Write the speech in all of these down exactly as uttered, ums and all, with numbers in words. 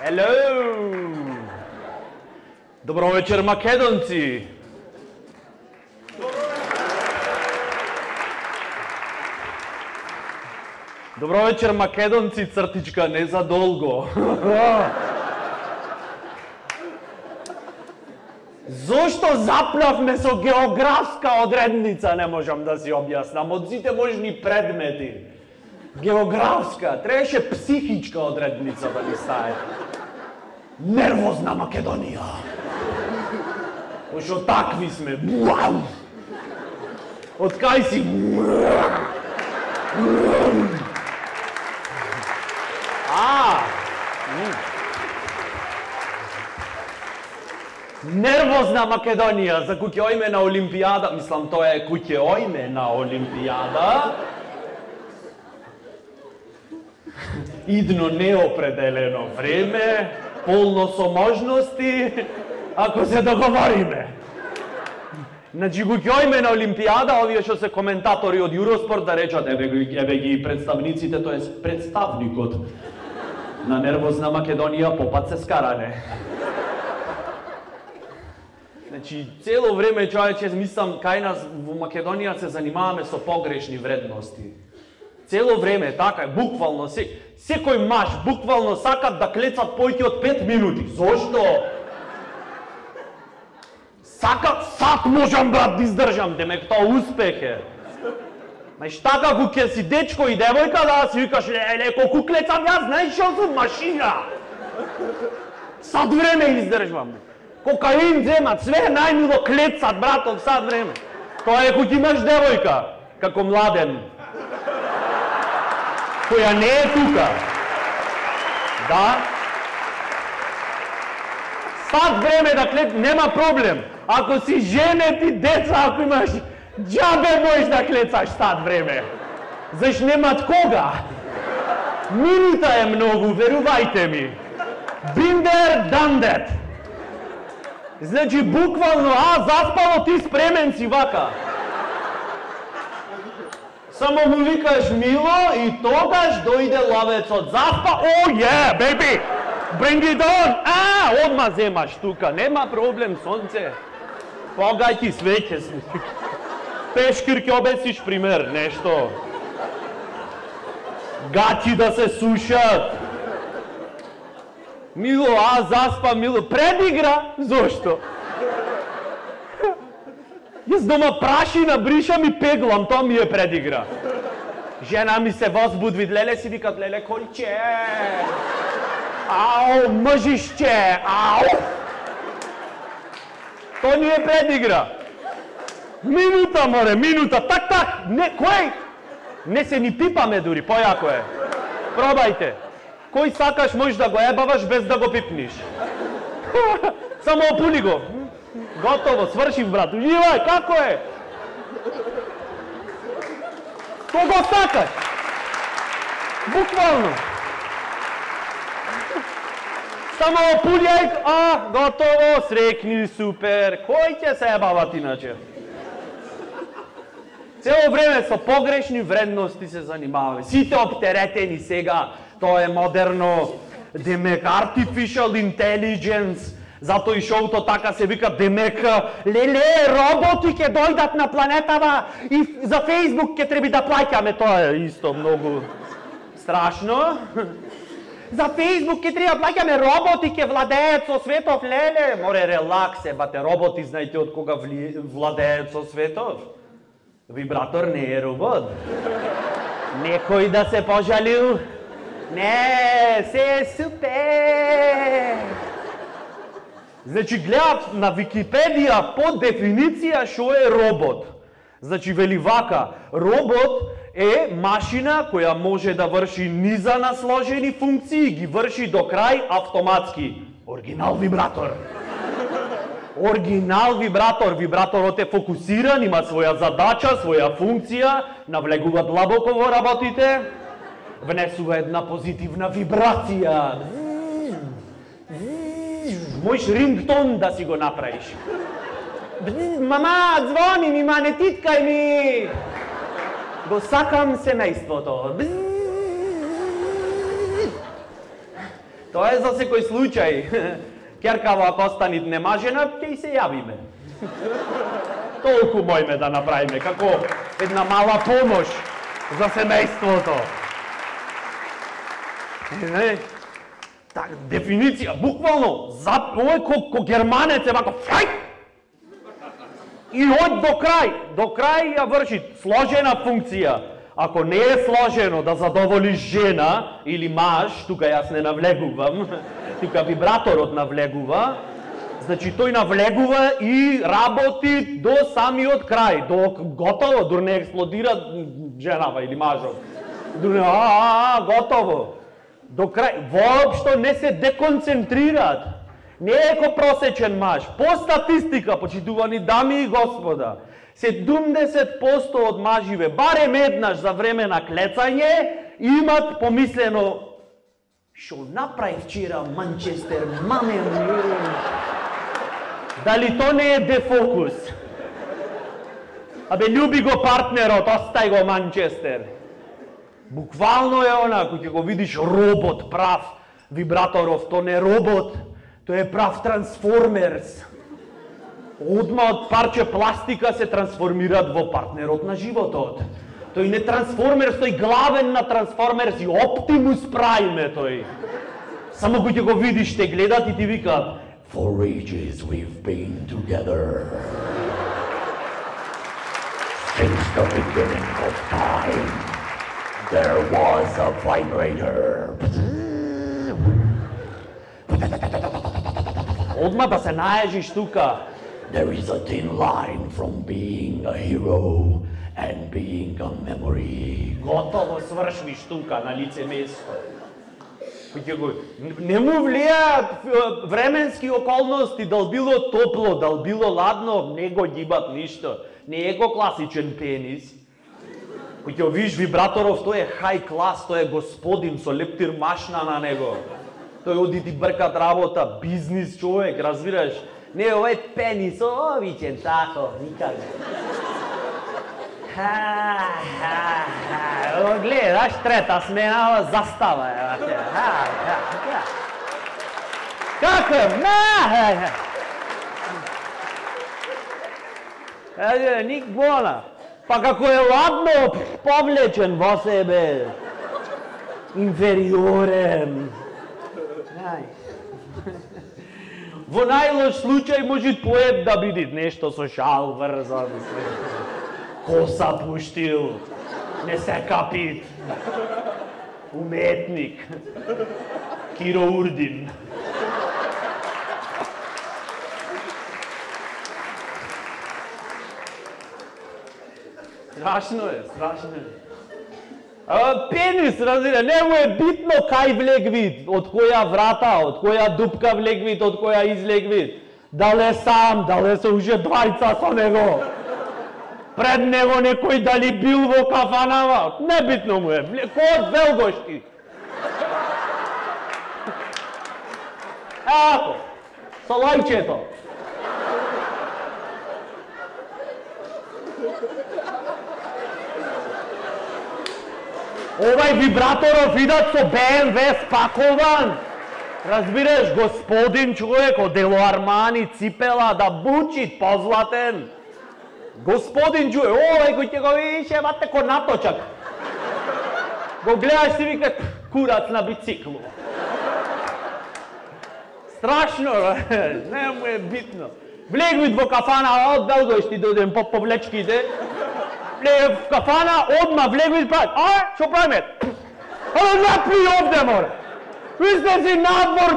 Hello! Добро вечер, македонци! Добро вечер, македонци, цртичка, не за долго. Зошто запнавме со географска одредница, не можам да си објаснам, од сите можни предмети. Географска, требаше психичка одредница да ни стае. Нервозна Македонија. Пошто такви сме. Од кај си? А! Нервозна Македонија, за куќе ојме на Олимпијада, мислам тоа е куќе ојме на Олимпијада. Идно неопределено време, полно со можности, ако се договориме. Значи, куќе ојме на Олимпијада, овие што се коментатори од Юроспорт да речат, еве ги, еве ги представниците, тоа е представникот на нервозна Македонија, попат се скаране. Значи, цело време, човече, мислам, кај нас во Македонија се занимаваме со погрешни вредности. Цело време, така, буквално, се, секој маш, буквално сакат да клецат појќе од пет минути. Зошто? Сакат, сат можам, брат, да издржам, демек тоа успех е. Знаеш, така, кога си дечко и девојка, да си викаш, леле, колку клецам јас, знаеш што сум машина. Сат време издржвам. Кокаин земат, све најмило клецат, братов, сад време. Тоа е кога имаш девојка, како младен, која не е тука. Да? Сад време да клец, нема проблем. Ако си женет и деца, ако имаш, џабе можеш да клецаш сад време. Заш немат кога. Минута е многу, верувајте ми. Been there, done that. Значи, буквално, а, заспало, ти спремен си вака. Само му викаш мило и тогаш дојде лавецот. Заспа, о, е, беби, bring it on. А, одма земаш тука, нема проблем, сонце. Погај ти свеќе си. Пешкир ќе обесиш пример, нешто. Гачи да се сушат. Мило, а, заспа, мило. Предигра? Зошто? Јас дома прашина бришам и пеглам, тоа ми е предигра. Жена ми се возбудви, леле си викат, леле конче. Ау, мъжишче, ау. Тоа ни е предигра. Минута, море, минута, так, так, не, кој? Не се ни пипаме дури, појако е. Пробајте. Кој сакаш можеш да го ебаваш без да го пипниш. Само опули го. Готово, свршив, брат. Уживај, како е? Кого сакаш? Буквално. Само опулјај, а, готово, срекни, супер. Кој ќе се ебават иначе? Цело време со погрешни вредности се занимаваме. Сите оптеретени сега, тоа е модерно, демек artificial intelligence, зато и шоуто така се вика, демек, леле, роботи ќе дојдат на планетава и за Facebook ќе треба да плаќаме, тоа е исто многу страшно. За Facebook ќе треба да плаќаме, роботи ќе владеат со светов, леле, море релакс, ебате, роботи знаете од кога владеат со светов? Вибратор не е робот. Некој да се пожалил? Не, се е супер! Значи, гледав на Википедија по дефиниција што е робот. Значи, вели вака, робот е машина која може да врши низа на сложени функции и ги врши до крај автоматски. Оригинал вибратор. Оригинал вибратор. Вибраторот е фокусиран, има своја задача, своја функција, навлегува длабоко во работите, внесува една позитивна вибрација. Можеш рингтон да си го направиш. Мама, звони ми, ма не титкај ми. Го сакам семејството. Тоа е за секој случај. Керкава, ако останит немажена, ќе и се јавиме. Толку мојме да направиме, како една мала помош за семејството. Не, так, дефиниција, буквално, за, ој ко, ко германец е вако, фрај! И од до крај, до крај ја врши сложена функција. Ако не е сложено да задоволиш жена или маж, тука јас не навлегувам, тука вибраторот навлегува, значи тој навлегува и работи до самиот крај, до готово, дур не експлодира женава или мажот. Дур не, а, а, готово. До крај, воопшто не се деконцентрираат. Не е ко просечен маж. По статистика, почитувани дами и господа, седумдесет проценти од маживе, барем еднаш за време на клецање, имат помислено шо направи вчера Манчестер, маме ми. Дали то не е дефокус? Абе, љуби го партнерот, остај го Манчестер. Буквално е она, кој ќе го видиш робот прав, вибраторов, то не робот, тој е прав трансформерс. Одма од парче пластика се трансформираат во партнерот на животот. Тој не трансформерс, тој главен на трансформерс и Оптимус Прайм е тој. Само кој ќе го видиш, те гледат и ти викаат For ages we've been together. Since the beginning of time, there was a vibrator. Одма да се наежиш тука. There is a thin line from being a hero and being a memory. Готово свршвиш тука на лице место. Не му влијаат временски околности, дал било топло, дал било ладно, не го гибат ништо. Не е го класичен пенис. Кој ќе видиш вибраторов, тој е хај клас, тој е господин со лептир машна на него. Тој оди ти бркат работа, бизнис човек, разбираш? Не, овој пенис, о, вичен, тако, никаде. Ха, ха, ха, гледаш, трета смена, застава е, ха, ха, ха. Како е? Ха, ха. Ник bona. Па како е ладно, повлечен во себе. Инфериорен. Во најлош случај може поет да биде нешто со шал врзан. Коса пуштил, не се капит. Уметник. Киро Урдин. Страшно е, страшно е. А, пенис, разбира, не му е битно кај влег вид, од која врата, од која дупка влег вид, од која излег вид. Дале сам, дале се уже двајца со него. Пред него некој дали бил во кафанава, не битно му е, кој велгошти. Ако, со лајчето. Овај вибраторов идат со Б М В спакован. Разбираш, господин човек од Дело Армани, ципела да бучит, позлатен. Господин човек, овај кој ќе го видиш, е вате ко наточак. Го гледаш си вика, курац на бициклу. Страшно, не му е битно. Влегвит во кафана, од Белгојшти дојдем по повлечките. В кафана, одма влегвит правит. А, шо правиме? Ало, наплюј овде, море. Излези надвор,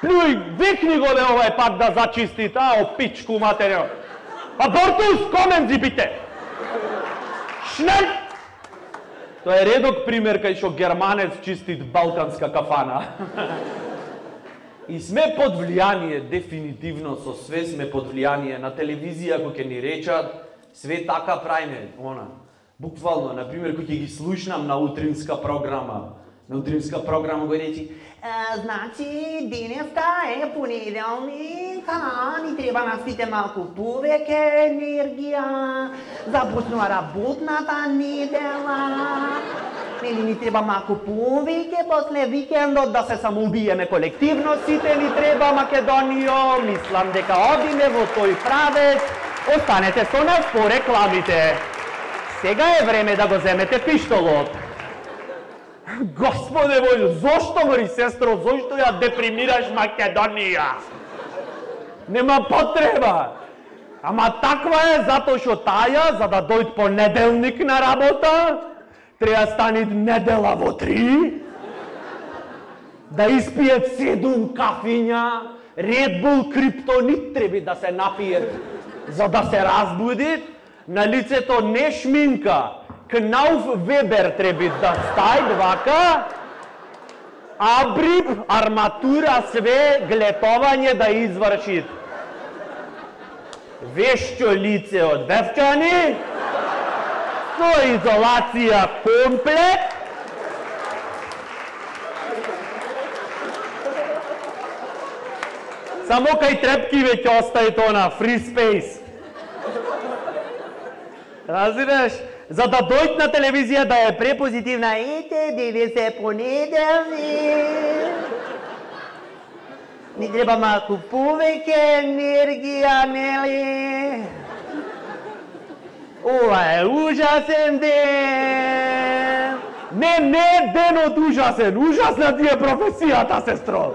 плюј, викни го ле овај пак да зачисти, а, о пичку материјал. Абортус, комен зипите. Шнел! Тоа е редок пример кај што германец чистит балканска кафана. И сме под влијание, дефинитивно со све сме под влијание на телевизија, кој ќе ни речат, све така правиме, она. Буквално, например, кој ќе ги слушнам на утринска програма, на утринска програма го речи, значи, денеска е понеделник, а ни треба на сите малку повеќе енергија, започнува работната недела. Нели ни треба малку повеќе после викендот да се самоубиеме колективно, сите ни треба Македонијо, мислам дека одиме во тој правец, останете со нас по рекламите. Сега е време да го земете пиштолот. Господе мој, зошто мори сестро, зошто ја депримираш Македонија? Нема потреба. Ама таква е затоа што таја, за да дојд понеделник на работа, треба станит недела во три, да испиет седум кафиња, Red Bull криптонит треба да се напиет, за да се разбудит, на лицето не шминка, Кнауф Вебер треба да стајд вака, абрип, арматура, све, глетовање да извршит. Вешчо лице од Вевчани, со изолација комплет, само кај трепки веќе остаи тона, free space. Разбираш? За да дојд на телевизија да е препозитивна, ете, денес е понеделник. Ни треба малку повеќе енергија, нели? Ова е ужасен ден! Не, не денот ужасен, ужасна ти е професијата, сестро!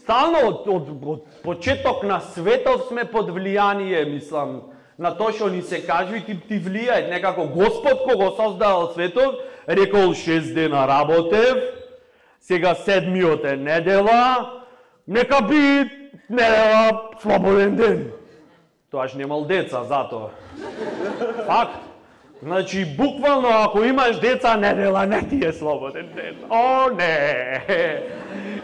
Стално од, од, од почеток на светов сме под влијание, мислам, на тоа што ни се кажува и ти, ти влијаат. Некако Господ кога создавал светов, рекол шест дена работев, сега седмиот е недела, нека би недела слободен ден. Тоаш немал деца затоа. Факт. Значи, буквално, ако имаш деца, недела не ти е слободен ден. О, не!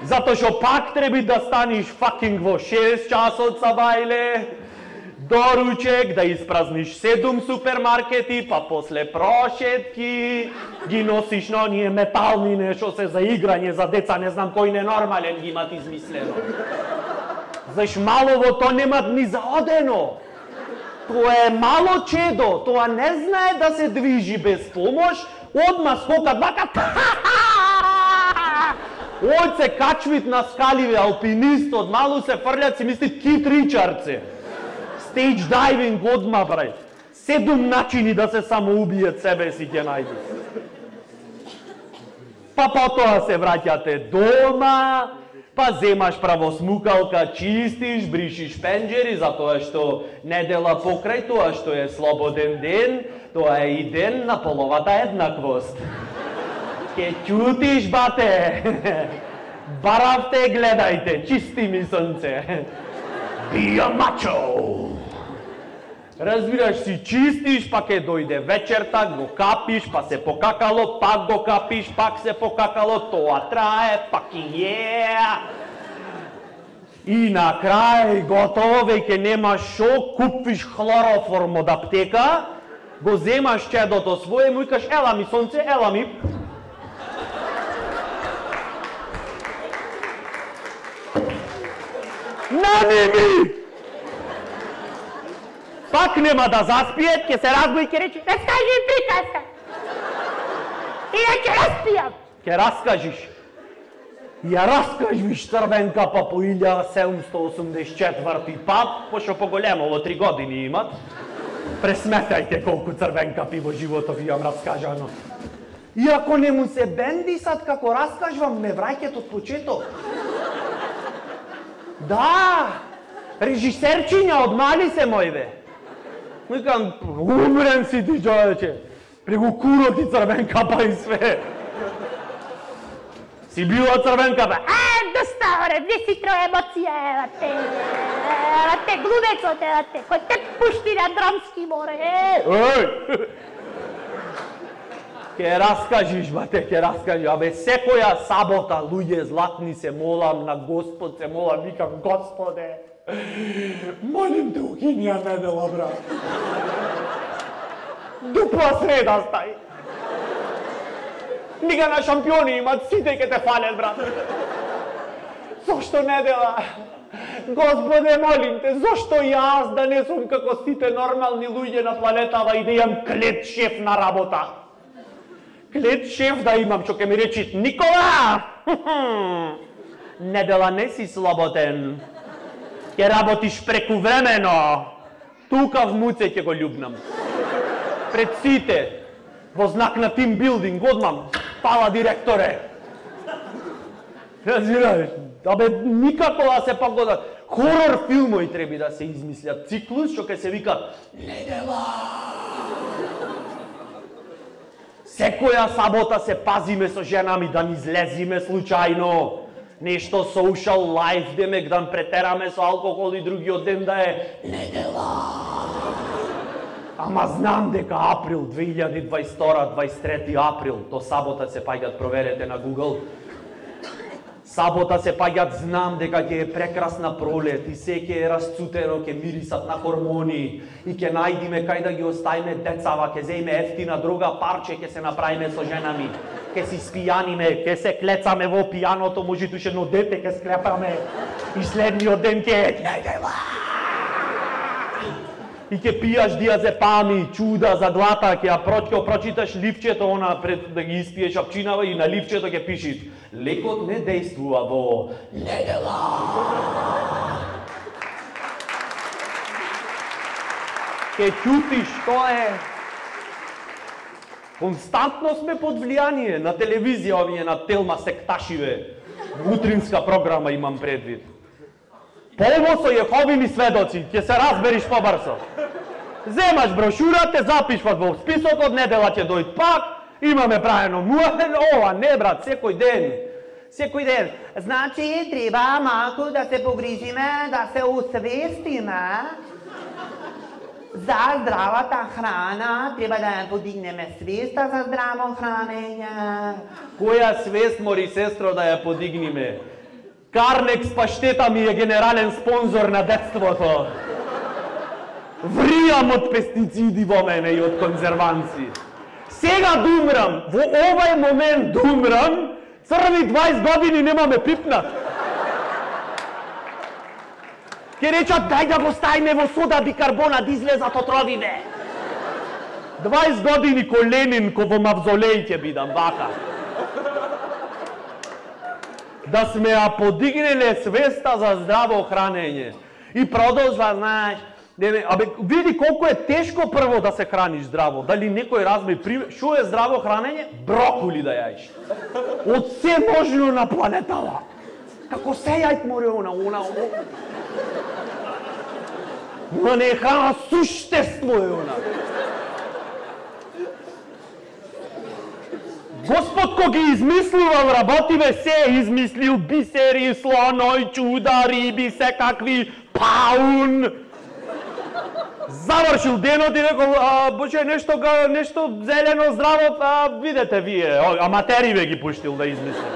Затоа што пак треба да станиш факинг во шест часот сабајле, доручек, да испразниш седум супермаркети, па после прошетки, ги носиш на оние метални нешто се за играње за деца, не знам кој ненормален ги имат измислено. Знаеш, малово то нема ни заодено. Тоа е мало чедо, тоа не знае да се движи без помош, одма скокат вака. Од се качвит на скаливе, алпинистот, малу се фрлят, си мислит Кит Ричардсе. Стейдж дайвинг одма, брај. Седум начини да се самоубијат себе си ќе најдеш. Па потоа се враќате дома, па земаш правосмукалка, чистиш, бришиш пенџери, затоа што недела покрај тоа што е слободен ден, тоа е и ден на половата еднаквост. Ке чутиш, бате. Баравте, гледајте, чисти ми сонце. Be a macho. Разбираш, си чистиш, па ке дојде вечерта, го капиш, па се покакало, пак го капиш, пак се покакало, тоа трае, пак и е. И на крај готово, веќе немаш шо, купиш хлороформ од аптека, го земаш чедото свое, му викаш, ела ми сонце, ела ми. Нани ми! Пак нема да заспиет, ќе се разбуди и ќе рече, раскажи приказка. И ја ќе распијам. Ќе раскажиш. Ја раскажиш Црвенка па по илјада седумстотини осумдесет и четврти пат, пошто поголемо во три години имат. Пресметајте колку Црвенкапи во животов имам раскажано. И ако не му се бендисат како раскажувам, ме враќат од почеток. Да, режисерчиња од мали се мој бе. Викам, умрен си ти, човече. Прегу куро ти Црвенкапа и све. Си била Црвенкапа? А, доста, оре, не си тро емоција, ева те. Ева те, глумецот, ева те. Кој те пушти на драмски море, е. Ој! Ке раскажиш, бате, ке раскажиш. Абе, секоја сабота, луѓе златни, се молам на Господ, се молам, викам, Господе, молим те, укини ја недела, брат. Дупла среда стај. Лига на шампиони имат, сите ке те фалят, брат. Зошто недела? Господе, молим те, зошто јас да не сум како сите нормални луѓе на планетава и да имам клет шеф на работа? Клет шеф да имам, што ке ми речи, Никола! Недела не си слободен. Ке работиш прекувремено. Тука в муце ќе го љубнам. Пред сите. Во знак на тимбилдинг, одмам. Фала директоре. Разбираш? Абе, никако да се погодат. Хорор филмови треба да се измислят. Циклус, што ке се вика Недела. Секоја сабота се пазиме со женами да ни излезиме случајно. Нешто social life, демек да претераме со алкохол и другиот ден да е недела. Ама знам дека април две илјади дваесет и втора дваесет и трети април, то сабота се паѓат, проверете на Google. Сабота се паѓат, знам дека ќе е прекрасна пролет и се ќе е расцутено, ќе мирисат на хормони и ќе најдиме кај да ги оставиме децава, ќе земеме ефтина друга парче, ќе се направиме со женами, ќе си спијаниме, ќе се клецаме во пијаното, може туше едно дете ќе склепаме и следниот ден ќе е недела. И ќе пијаш диазепами, чуда за глата, ќе ја прочко прочиташ ливчето она пред да ги испиеш апчинава и на ливчето ќе пишиш лекот не дејствува во недела. Ќе чутиш, тоа е. Константно сме под влијание на телевизија, овие на Телма секташиве. Утринска програма имам предвид. Полво со Јеховини сведоци, ќе се разбериш побрзо. Земаш брошура, те запишват во списокот, недела ќе дојд пак, имаме правено муавен, ова не брат, секој ден. Секој ден. Значи, треба малку да се погрижиме, да се усвестиме за здравата храна, треба да ја подигнеме свеста за здраво хранење. Која свест, мори сестро, да ја подигнеме? Карнекс паштета ми е генерален спонзор на детството. Вријам од пестициди во мене и од конзерванци. Сега думрам, во овај момент думрам, црви дваесет години немаме пипнат. Ке речат, дај да го ставиме во сода бикарбона, да излезат отровиве. дваесет години ко Ленин, ко во мавзолеј ќе бидам, вака. Да сме ја подигнеле свеста за здраво хранење. И продолжва, знаеш, абе, види колку е тешко прво да се храниш здраво. Дали некој разми пример, шо е здраво хранење? Брокули да јаиш. Од се можно на планетава. Како се јајт море она, она, она. Она не е храна, суштество е она. Господ ко ги измислувал работиве, се измислил бисери, слоној, чуда, риби, секакви, паун. Завршил денот и рекол, боже, нешто, нешто зелено, здраво, а, видете вие, аматериве ги пуштил да измисли.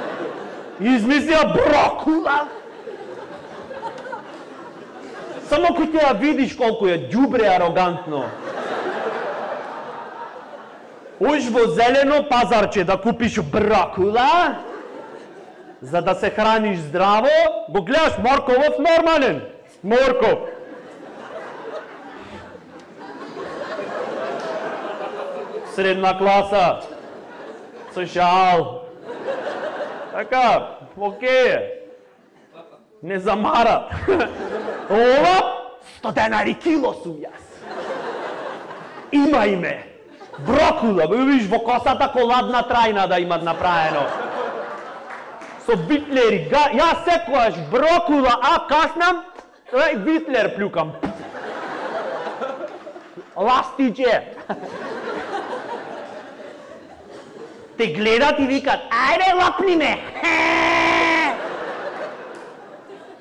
Измислил брокула. Само кој ќе ја видиш колку е ѓубре арогантно. Уж во зелено пазарче да купиш брокула, за да се храниш здраво, го гледаш морковов нормален. Морков. Средна класа. Со шал. Така, окей. Не замара. Ова, сто денари кило сум јас. Има име. Брокула, видиш во косата коладна трајна да имат направено. Со витлери, јас секојаш брокула, а каснам, и витлер плюкам. Ластиче. Те гледат и викат, ајде лапни ме.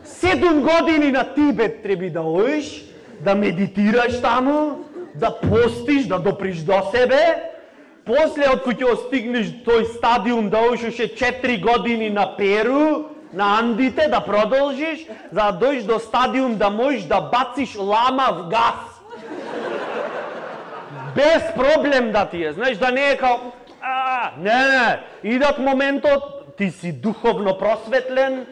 Седум години на Тибет треби да оиш, да медитираш таму, да постиш, да доприш до себе, после од кој ќе стигнеш тој стадиум да оиш четири години на Перу, на Андите, да продолжиш, за да дојдеш до стадиум да можеш да бациш лама в газ. Без проблем да ти е, знаеш, да не е као, а, не, не, идат моментот, ти си духовно просветлен,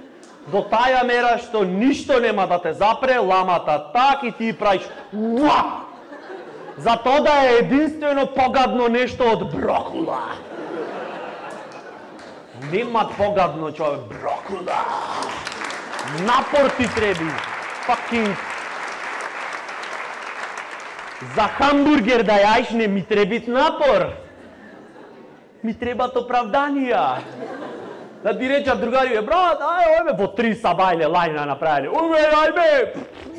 до таја мера што ништо нема да те запре, ламата так и ти правиш уа! За тоа да е единствено погадно нешто од брокула. Нема погадно човек, брокуда. Напор ти треби. Fucking. За хамбургер да јаиш не ми требит напор. Ми требат оправданија. Да ти речат другари, брат, ај, ојме, во три сабајле лајна направили. Уме, ајме,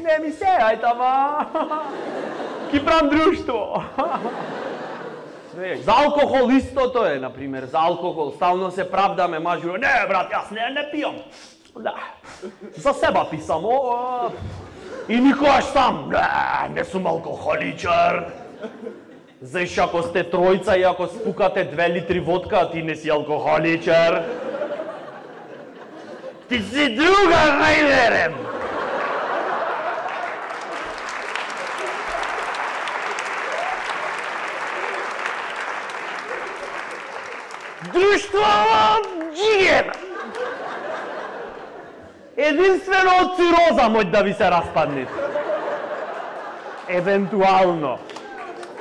не ми се, ај тама. Ки прам друштво. За алкохол истото е, например, за алкохол. Стално се правдаме, мажуро, не, брат, јас не, не пијам. Да, за себе писам, о, и никогаш сам, не, не сум алкохоличар. Заиш ако сте тројца и ако спукате две литри водка, ти не си алкохоличар. Ти си друга, најверем. Друштво джиген. Единствено од цироза мој да ви се распаднете. Евентуално.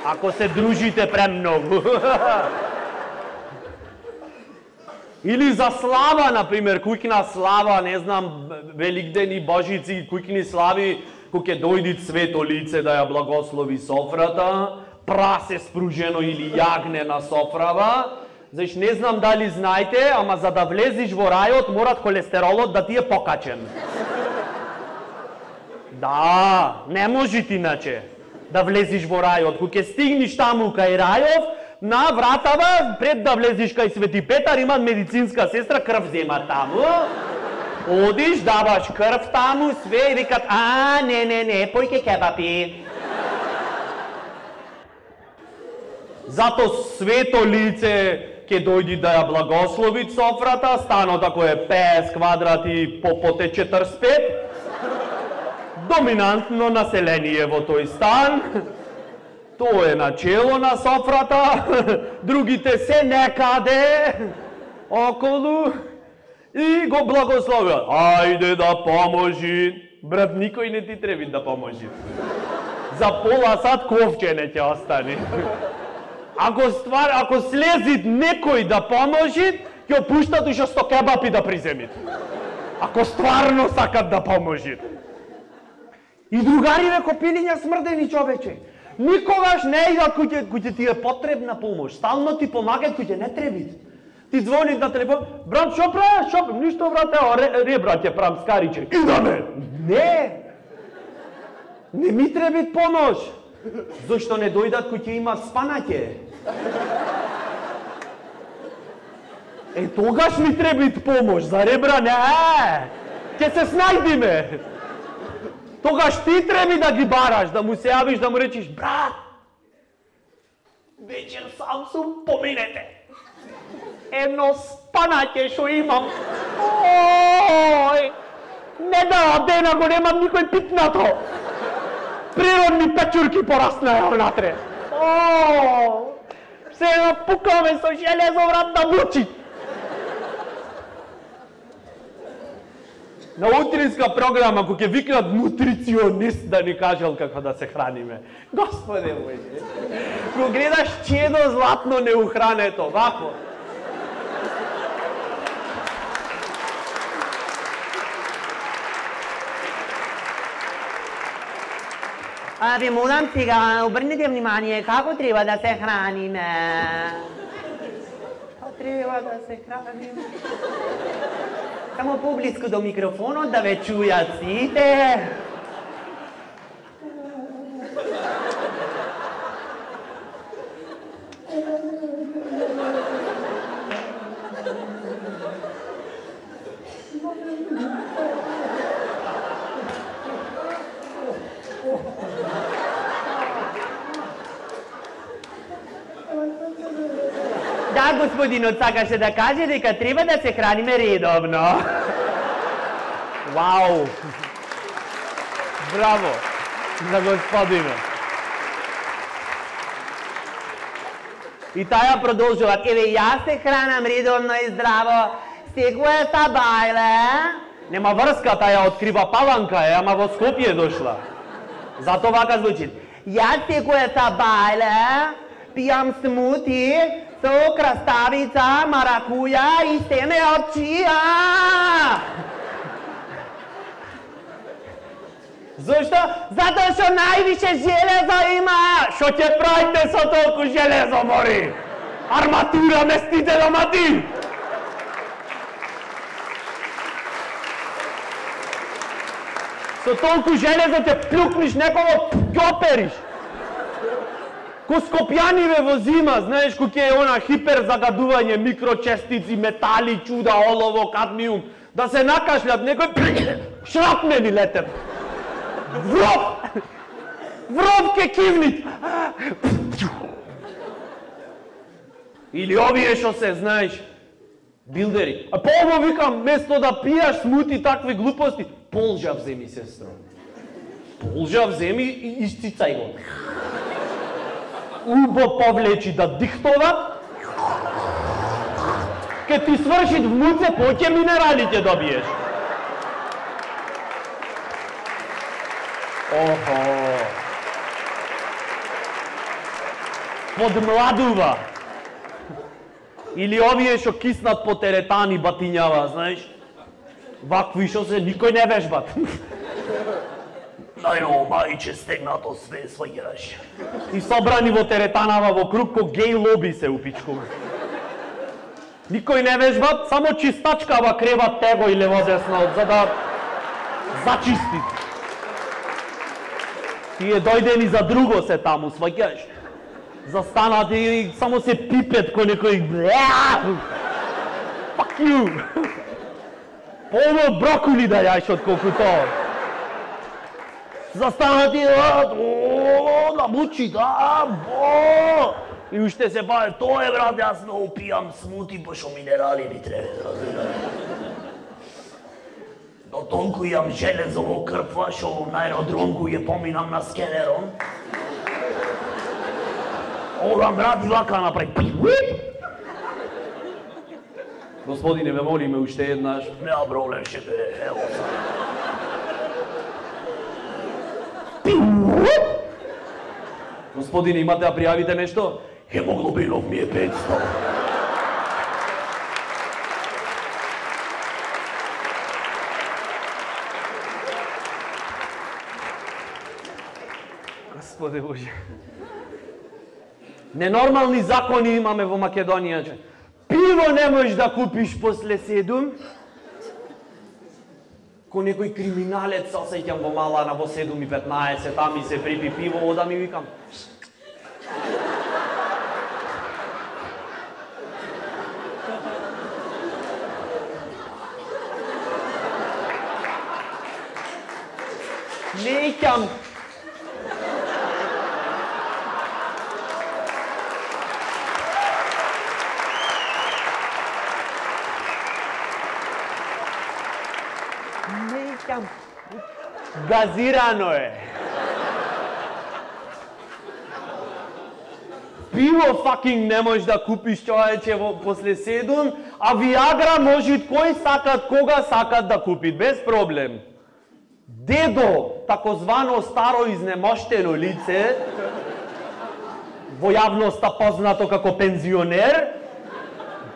Ако се дружите премногу. Или за слава, например, куќна слава, не знам, Великден и Божици, куќни слави, кој ќе дојди свето лице да ја благослови софрата, прасе спружено или јагне на софрава. Знаеш, не знам дали знаете, ама за да влезиш во рајот, морат холестеролот да ти е покачен. Да, не може ти иначе да влезиш во рајот. Кога ќе стигнеш таму кај рајот, на вратава, пред да влезиш кај Свети Петар, има медицинска сестра, крв зема таму. Одиш, даваш крв таму, све и викат, а, не, не, не, појке кебапи. Зато свето лице ќе дојди да ја благослови софрата, станот ако е петдесет квадрати по поте четиридесет и пет. Доминантно население во тој стан. Тоа е начело на софрата, другите се некаде околу и го благословуват. Ајде да поможи. Брат, никој не ти треби да поможи. За пола сат ковче не ќе остане. Ако ствар, ако слезит некој да поможи, ќе пуштат уште сто кебапи да приземит. Ако стварно сакат да поможи. И другариве копилиња смрдени човече. Никогаш не идат кој ќе ти е потребна помош. Стално ти помагат кој ќе не треби. Ти звониш на телефон, брат, шо правиш? Шо? Ништо, брат, ево, ребра ќе правам скариче. Идаме! Не! Не ми треби помош. Зошто не дојдат кој ќе има спанаќе? Е, тогаш ми треби помош, за ребра не, ќе се снајдиме. Тогаш ти треби да ги бараш, да му се јавиш, да му речиш, брат, вечер сам сум, поминете. Едно спанаќе шо имам. Ој, не да, дена го немам никој питнато. Природни печурки пораснаја внатре. Ој, сега пукаме со железо врат да мучи. На утринска програма, кој ќе викнат нутриционист да ни кажел како да се храниме. Господе моје, кога гледаш чедо златно неухрането, вако. А, ви молам сега, обрнете внимание, како треба да се храниме? Како треба да се храниме? Само поблиску до микрофонот да ве чујат сите. Да, господинот сакаше да каже дека треба да се храниме редовно. Вау! Браво за господинот. И таја продолжува, еве јас се хранам редовно и здраво, секоја сабајле. Нема врска, таја открива Паланка е, ама во Скопје дошла. Зато вака звучи. Јас секоја сабајле пијам смути со краставица, маракуја и семе од чија. Зошто? Затоа што највише железо има. Што ќе правите со толку железо, мори? Арматура местите домати? Со толку железо ќе плюкниш некого, ќе опериш. Ко Скопјаниве во зима, знаеш, кој е она хипер загадување, микрочестици, метали, чуда, олово, кадмиум, да се накашлят некој, шрапнели летят. Вров! Вров ке кивнит! Или овие што се, знаеш, билдери. А по ово викам, место да пијаш смути такви глупости, полжа вземи, сестро. Полжа вземи и исцицај го. Убо повлечи да дихтова, ке ти свршит в муце, поќе минерали ќе добиеш. Охо. Подмладува. Или овие што киснат по теретани батињава, знаеш? Вакви што се никој не вежбат. Најно мајче стегнато све сваѓаш. И собрани во теретанава во круг ко геј лоби се упичкува. Никој не вежбат, само чистачкава креват tego и лево-десно, за да зачисти. Тие дојдени за друго се таму, сваѓаш. Застанат и само се пипет кој некој... Fuck you! Полно брокули да јаш од колку тоа. Застанат и... О, да мучи, да, бо! И уште се баве, тоа е, брат, јас многу пијам смути, пошто минерали ми треба, разбираш. Но толку јам железо во крпва, шо на аеродромку ја поминам на скенерон. Орам, брат, и вака направи. Господине, ме молиме уште еднаш. Нема проблем, ще бе, ево са. Господине, имате да пријавите нешто? Хемоглобинов ми е петсто. Господи Боже. Ненормални закони имаме во Македонија. Пиво не можеш да купиш после седум. Ко некој криминалец, осеќам во Малана во седум и петнаесет, там и се припи пиво, ода ми викам. Неќам. Неќам. Газирано е. Пиво факинг не можеш да купиш, човече, после седум, а Виагра може кој сакат, кога сакат да купит, без проблем. Дедо, такозвано старо изнемоштено лице, во јавноста познато како пензионер,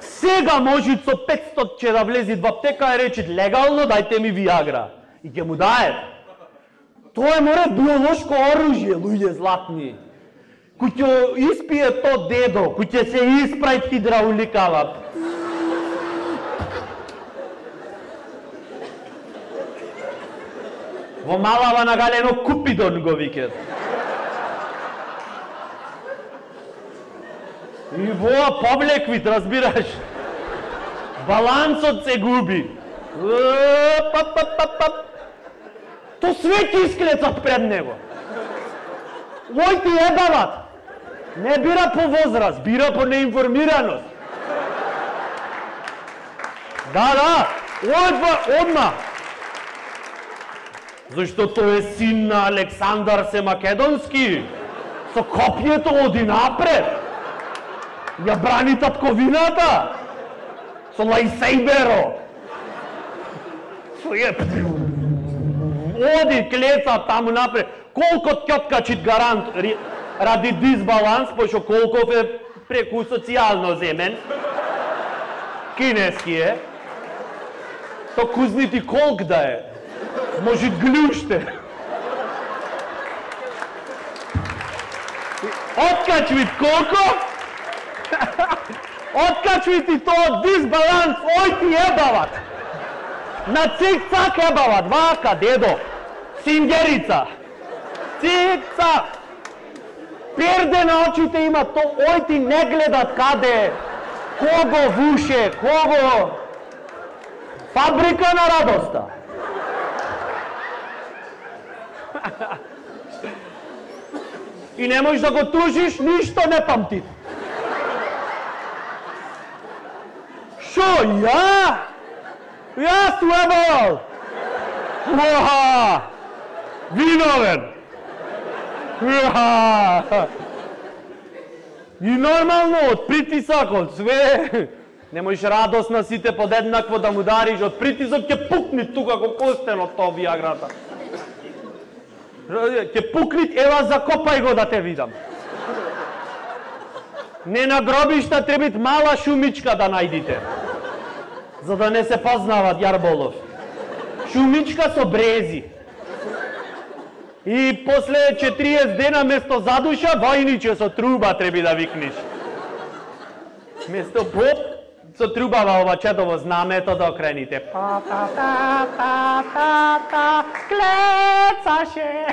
сега може со петсто ќе да влези во аптека и рече легално дајте ми Виагра. И ќе му дае. Тоа е море биолошко оружје, луѓе златни. Кој ќе испие то дедо, кој ќе се испрајт хидрауликава. Во Малава нагалено Купидон го викет. И воа повлеквит, разбираш. Балансот се губи. То све ќе исклецат пред него. Ој ти ебават. Не бира по возраст, бира по неинформираност. Да, да, одма, одма. Зашто тој е син на Александар се Македонски. Со копјето оди напред. Ја брани татковината. Со лајсейберо. Со е... Оди клеца таму напред. Колко ќоткачит гарант ради дисбаланс, пошто Колков е преку социјално земен. Кинески е. То кузнити колк да е. Може глуште. Откачвит колко? Откачвит и тоа дисбаланс, ој ти ебават. На цик-цак ебават, вака, дедо. Сингерица. Цик-цак. Перде на очите има, то ој ти не гледат каде. Кого вуше, кого... Фабрика на радоста. И не можеш да го тужиш, ништо не памти. Шо, ја? Јас су ебал! Уаха! Виновен! Уаха! И нормално, од притисак, од све... Не можеш радост на сите подеднакво да му дариш, од притисок ќе пукни тука како костен од тоа виаграта. Ќе пукни, ева закопај го да те видам. Не на гробишта требит мала шумичка да најдите. За да не се познават Јарболов. Шумичка со брези. И после четириесет дена место задуша, војниче со труба треби да викниш. Место поп, со трубава ова четово знамето да окрените. Па, па, па, па, па, па, клецаше.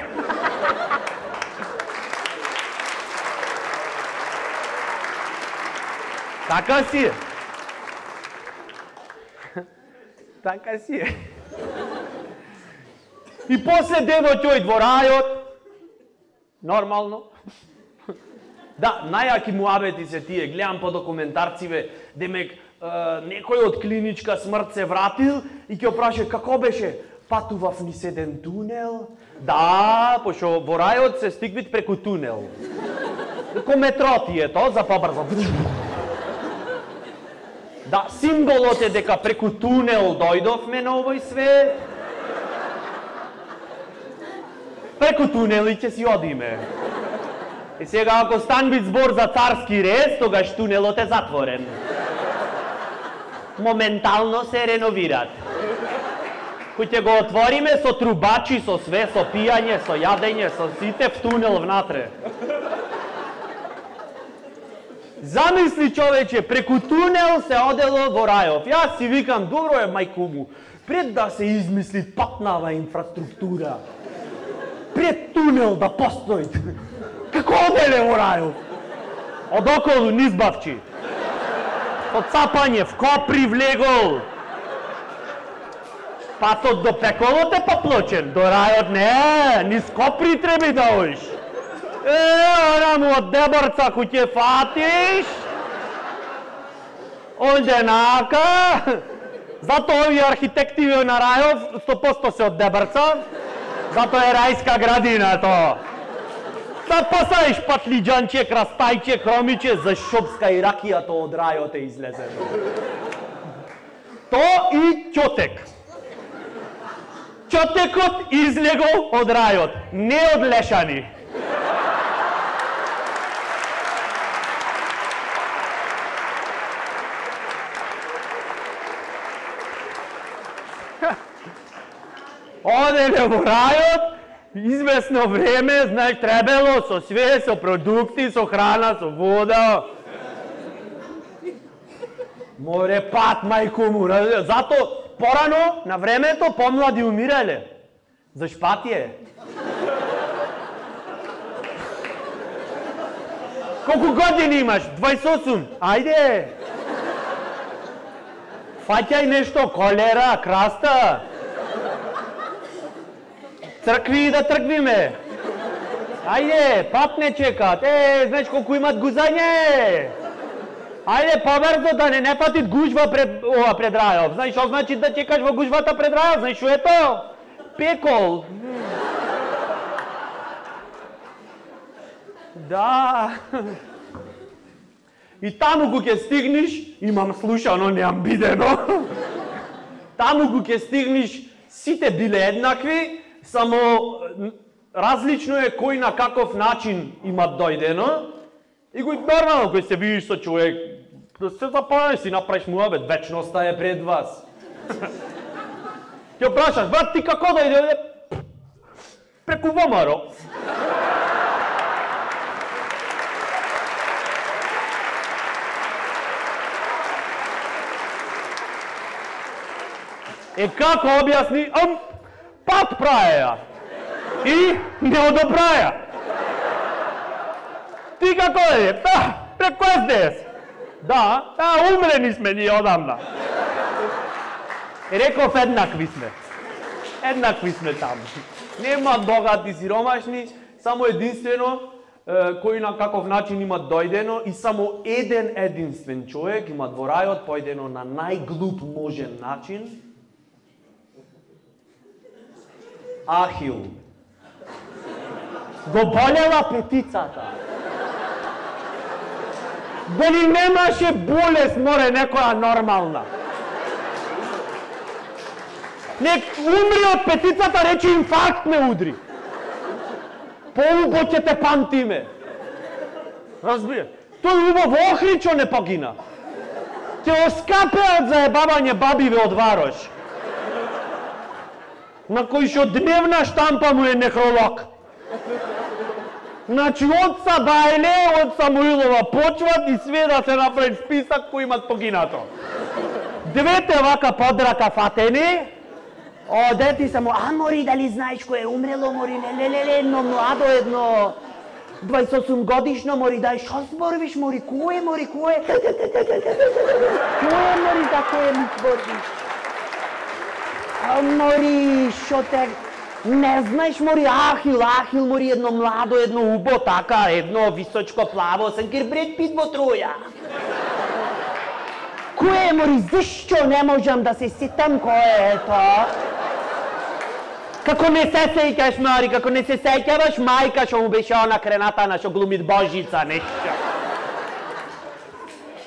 Така си е. Така си е. И после дедо ќој во рајот. Нормално. Да, најаки муабети се тие, гледам по документарциве, демек, е, некој од клиничка смрт се вратил и ќе опраше како беше, патував низ еден тунел. Да, пошто во рајот се стигвит преку тунел. Ко метро ти е тоа, за побрзо. Да, символот е дека преку тунел дојдовме на овој свет. Преку тунели ќе си одиме. И сега ако станбит збор за царски рез, тогаш тунелот е затворен. Моментално се реновират. Кој ќе го отвориме со трубачи, со све, со пијање, со јадење, со сите в тунел внатре. Замисли човече, преку тунел се одело во рајов. Јас си викам, добро е мајку му, пред да се измисли патнава инфраструктура, пред тунел да постои. Како оделе во рајов? Од околу низбавчи. Од цапање, в Копри влегол. Патот до Пеколот е поплочен, до рајот не, низ Копри треби да оиш. Е, ораму од Деборца кој ќе фатиш. Оденака. Зато овие архитективи на рајов сто проценти се од Деборца. Зато е рајска градина тоа. Да пасаиш патлиџанче, крастајче, хромиче, за шопска и ракијата од рајот е излезено. То и ќотек. Ќотекот излегол од рајот, не од лешани. Оделе во рајот, известно време, знаеш, требело со све, со продукти, со храна, со вода. Море пат, мајко му, зато порано, на времето, помлади умирале. За шпатие. Колку години имаш? двајсет и осум. Ајде. Фаќај нешто, колера, краста. Цркви да трквиме. Ајде, пат не чекат. Е, знаеш колку имат гузање. Ајде, побрзо да не не фатит гужва пред ова пред рајов. Знаеш што значи да чекаш во гужвата пред рајов? Знаеш што е тоа? Пекол. Да. И таму кога ќе стигнеш, имам слушано, немам бидено. Таму кога ќе стигнеш, сите биле еднакви. Само различно е кој на каков начин имат дојдено И го нормално, кој се видиш со човек, да се запознаш, си направиш муабет, вечноста е пред вас. Ќе прашаш, брат, ти како да иде? Преку ВМРО. Е како објасни? Ам, пат праја. И не одобраја. Ти како е? Да, преку Ес Де Ес. Да, а, умрени сме ние одамна. Реков еднакви сме. Еднакви сме таму. Нема богати сиромашни, само единствено кој на каков начин има дојдено и само еден единствен човек има во рајот појдено на најглуп можен начин. Ахил. Го болела петицата. Дали немаше болест, море, некоја нормална. Нек умри од петицата, рече инфаркт ме удри. Поубо ќе те памтиме. Разбира. Тој убо во Охричо не погина. Ќе оскапе од заебавање бабиве од Варош. На кој шо дневна штампа му е некролог. Значи, од Сабајле, од Самуилова почват и све да се направи списак кои имат погинато. Двете вака подрака фатени, оде ти само, а мори, дали знаеш кој е умрело, мори, ле, ле, ле, едно младо, едно дваесет и осум годишно, мори, дај, шо зборвиш, мори, кој е, мори, кој е? Кој е, мори, за кој ми зборвиш? А, мори, шо те... Не знаеш, мори, Ахил, Ахил, мори, едно младо, едно убо, така, едно височко плаво, сенкер Бред Пит во Троја. Кој е, мори, зашто не можам да се сетам кој е тоа? Како не се сеќаш, мори, како не се сеќаваш, мајка што му беше она кренатана, што глумит Божица, нешто.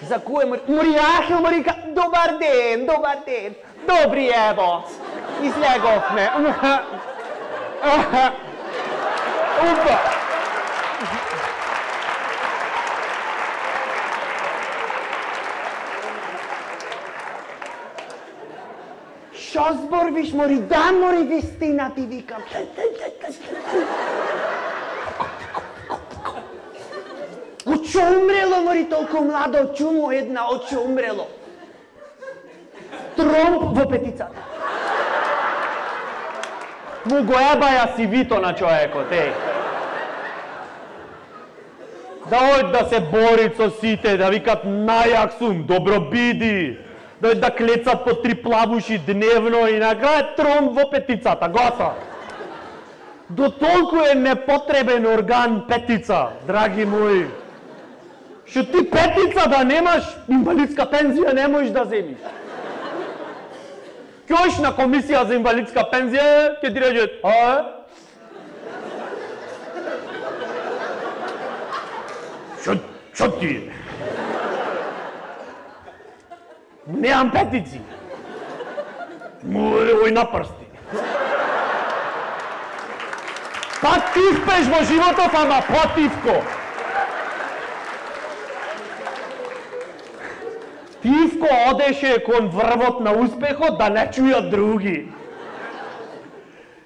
За кој, мори, мори, Ахил, мори, добар ден, добар ден, добри, ево, излеговме. Упа! Шо зборвиш, мори? Да, мори, вистина ти викам. Очо умрело, мори, толку младо, чумо една, очо умрело. Тромп во петицата. Му го ебаја си вито на човекот, еј. Да ојд да се борит со сите, да викат најак сум, добро биди. Да ојд да клецат по три плавуши дневно и на крај Тромп во петицата, готово. До толку е непотребен орган петица, драги мои. Што ти петица да немаш, инвалидска пензија не можеш да земиш. Ќе оиш на комисија за инвалидска пензија, ќе ти речат, а? Шо, шо ти? Неам петици. Море, ој на прсти. Па ти спеш во животот, ама потивко. Тивко одеше кон врвот на успехот да не чујат други.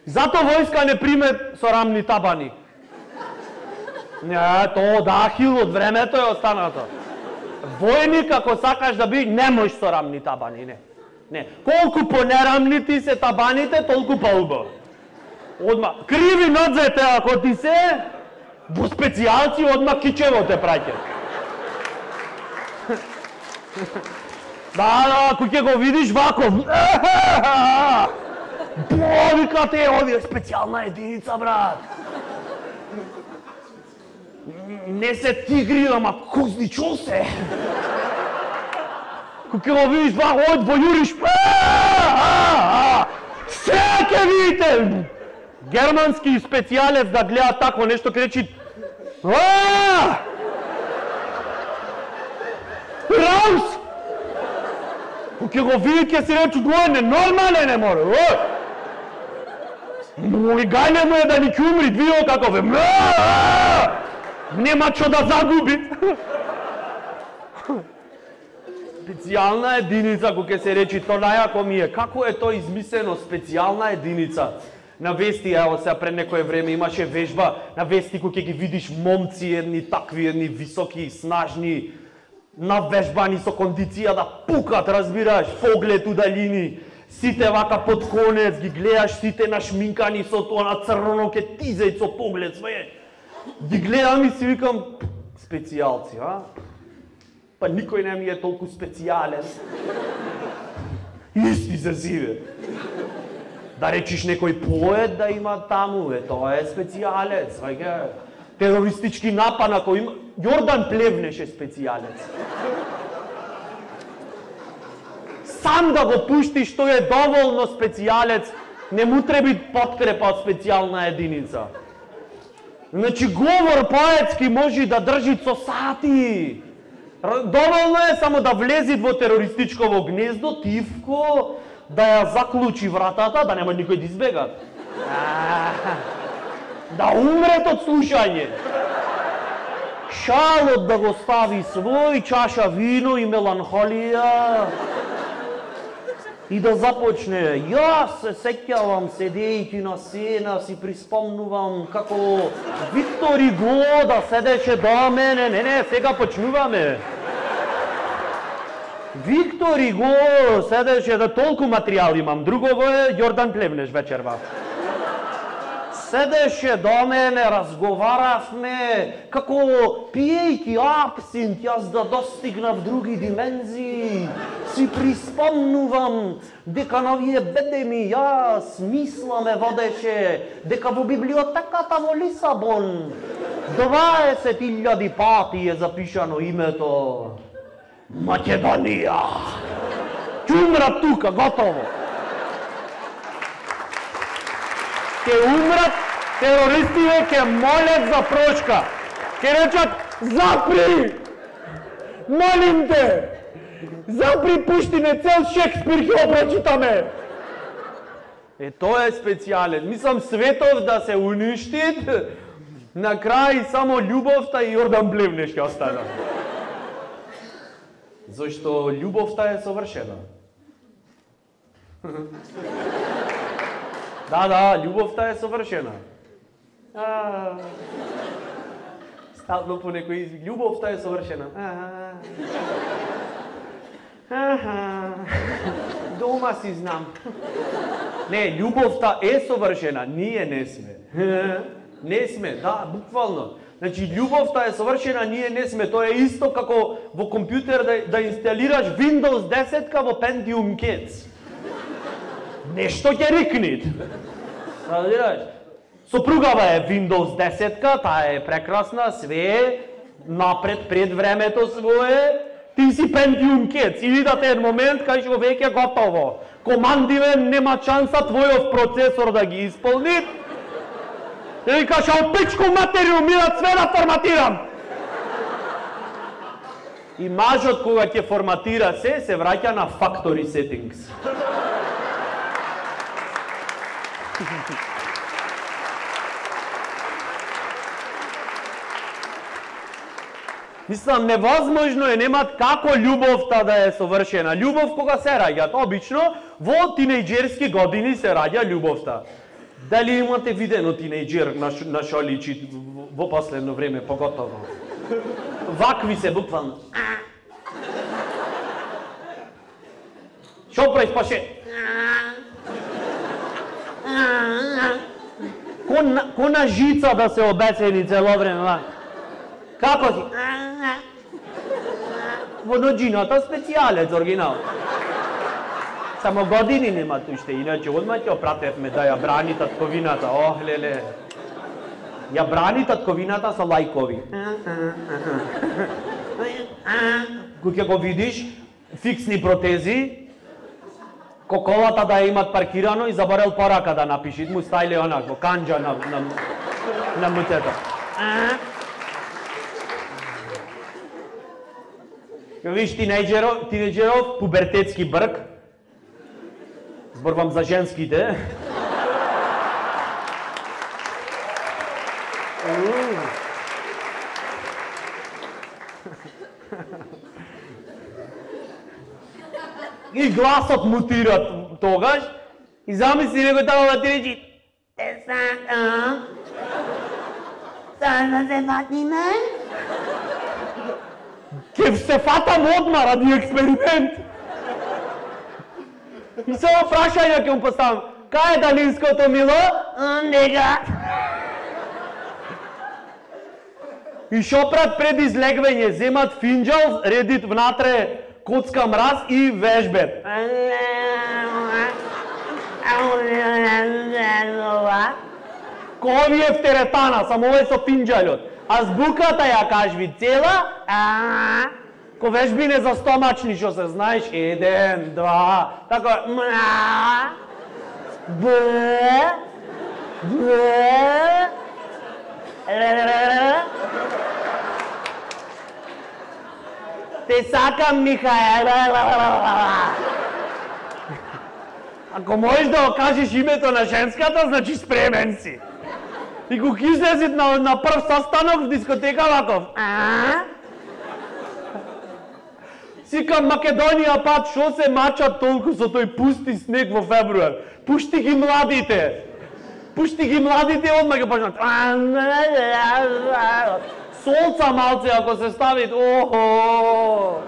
Зато војска не приме сорамни табани. Не, тоа од Ахил од времето е останато. Војник, ако сакаш да би, не можеш сорамни табани, не. Не. Колку понерамни ти се табаните, толку по-убаво. Одма, криви надзете ако ти се, во специјалци одма кичево те праќа. Да, да, ако ќе го видиш вако, бовика те, овие специјална единица, брат. Не се тигри, ама козничо се. Ако ќе го видиш вако, ојд во јуриш, се ќе видите. Германски специјалец да гледа тако нешто, ке речи, Раус! Ке го види, ке си речу, тоа е ненормален, не море. Мој гајле му е да ни ќе умри, видео како ве. Нема што да загуби. Специјална единица, кога се речи, то најако ми е. Како е то измислено, специјална единица? На вести, ево сега пред некое време имаше вежба, на вести кога ги видиш момци, едни такви, едни високи, снажни, навежбани со кондиција да пукат, разбираш, поглед удалини. Сите вака под конец, ги гледаш сите нашминкани со тоа на црно ке тизеј со поглед, све. Ги гледам и си викам, специјалци, а? Па никој не ми е толку специјален. Исти се сиве. Да речиш некој поет да има таму, е, тоа е специјалец, вајге. Терористички напад на кој има... Јордан Плевнеш е специјалец. Сам да го пуштиш, тој е доволно специјалец, не му треби подкрепа од специјална единица. Значи, говор поетски може да држи со сати. Доволно е само да влези во терористичково гнездо, тивко, да ја заклучи вратата, да нема никој да избега. Да умрет од слушање. Шалот да го стави свој, чаша вино и меланхолија. И да започне. Јас се сеќавам, седејќи на сцена, си приспомнувам како Виктор Уго да седеше до мене. Не, не, сега почнуваме. Виктор Уго седеше, да толку материјал имам. Другово е Јордан Плевнеш вечерва. Седеше до мене, разговаравме, како пиејќи абсинт, јас да достигнав други димензии. Си приспомнувам дека на овие бедеми јас мисла ме водеше дека во библиотеката во Лисабон дваесет илјади пати е запишано името Македонија. Ќе умрат тука, готово. Ке умрат, терористите ке молят за прошка. Ке речат, запри! Молим те! Запри, пушти не цел Шекспир ќе обрачитаме! Е, тоа е специјален. Мислам, светов да се уништи, на крај само љубовта и Јордан Плевнеш ќе остана. Зашто љубовта е совршена. Да, да, љубовта е совршена. А, стално по некој извик. Љубовта е совршена. Аха. Дома си знам. Не, љубовта е совршена, ние не сме. Не сме, да, буквално. Значи, љубовта е совршена, ние не сме. Тоа е исто како во компјутер да, да инсталираш Windows десет во Pentium Kids. Нешто ќе рикнит. Разбираш? Сопругава е Windows десет, таа е прекрасна, све напред пред времето свое. Ти си Pentium Kids, и видате еден момент кај што веќе готово. Командиве нема шанса твојов процесор да ги исполни. И викаш, а пичку материју, ми да све да форматирам. И мажот кога ќе форматира се, се враќа на factory settings. Мислам, невозможно е, немат како љубовта да е совршена. Љубов кога се раѓат, обично во тинејџерски години се раѓа љубовта. Дали имате видено тинејџер на, на шо личи во последно време, поготово? Вакви се буквално. Шо правиш, паше? Ко на жица да се обесени цело време. Како си? Во ноџината специјалец, оригинал. Само години немат уште, иначе одма ќе опратевме да ја брани татковината. Ох, леле. Ја брани татковината со лајкови. Кога го видиш, фиксни протези, коколата да ја имат паркирано и заборел порака да напиши, му стајле онак, во канџа на, на, на муцето. Виж, тинејџеров, тинејџеров, пубертетски брк. Зборувам за женските. гласот мутира тогаш и замисли него тamo да ти речи те сакам. Сакам да се фатиме? Ке се фатам одма ради експеримент. И само прашање ќе му поставам. Кај е далинското мило? Нега. И шопрат пред излегвање, земат финџал, редит внатре коцка мраз и вежбет. Ко овие в теретана, само овој со финџалот. Азбуката ја кажви цела, а ко вежбине за стомачни, што се знаеш, еден, два, тако, мра, б, б, те сакам, Михаел. Ако можеш да окажеш името на женската, значи спремен си. И го излезит на, на прв состанок в дискотека ваков. А? Сикам Македонија пат, шо се мачат толку со тој пусти снег во февруар? Пушти ги младите. Пушти ги младите, одма ги почнат. Солца малце ако се ставит, охо.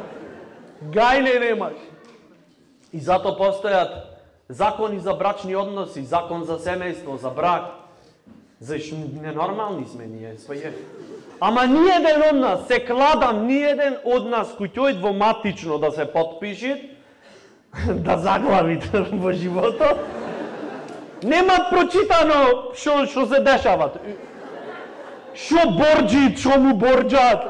Гајле немаш. И зато постојат закони за брачни односи, закон за семејство, за брак. Зашто ненормални сме ние, своје. Ама ниеден од нас, се кладам, ниеден од нас кој ќе во матично да се потпиши, да заглавите во животот, нема прочитано што што се дешава. Што борџи, што му борџат.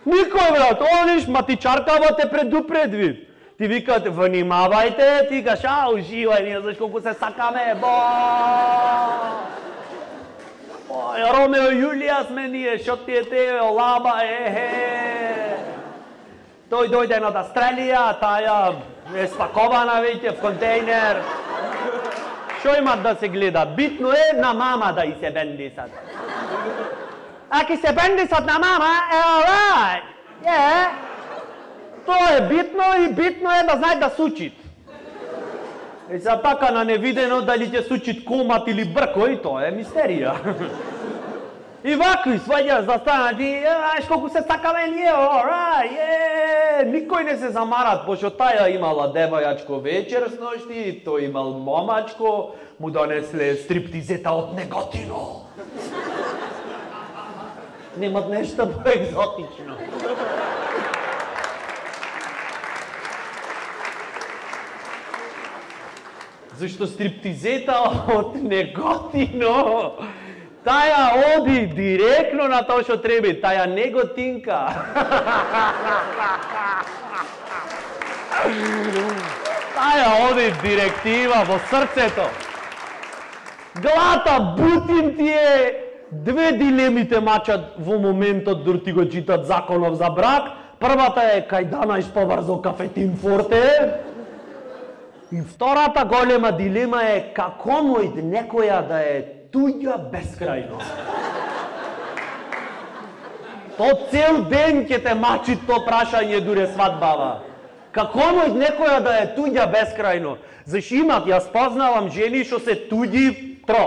Никој брат, ониш матичаркава те предупредви. Ти викат, внимавајте, ти кажеш, а, уживај, ние знаеш колку се сакаме, бо. Ој, Ромео и Јулија сме ние, шо ти е те, олаба, ехе. Тој дојде од Австралија, таја е спакована веќе в контейнер. Шо имат да се гледа? Битно е на мама да и се бендисат. Ако се бендисат на мама, е алрајт. Е, тоа е битно и битно е да знае да сучит. И за така на невидено дали ќе сучит комат или бркој, тоа е мистерија. И вакви сваѓаш да станат и аш колку се сакаме ние, алрајт, е, никој не се замарат, пошто таја имала девојачко вечер сношти, тој имал момачко, му донесле стриптизета од Неготино. Немат нешто поекзотично. Зашто стриптизета од Неготино, таја оди директно на тоа што треба, таја неготинка. Таја оди директива во срцето. Глата, бутин ти е, две дилемите мачат во моментот дори ти го читат законов за брак. Првата е кај данаиш побрзо кафетин форте. И втората голема дилема е како мојд некоја да е туѓа бескрајно. То цел ден ќе те мачи то прашање дуре свадбава. Како мојд некоја да е туѓа бескрајно? Зашто имат, јас познавам жени што се туѓи тро.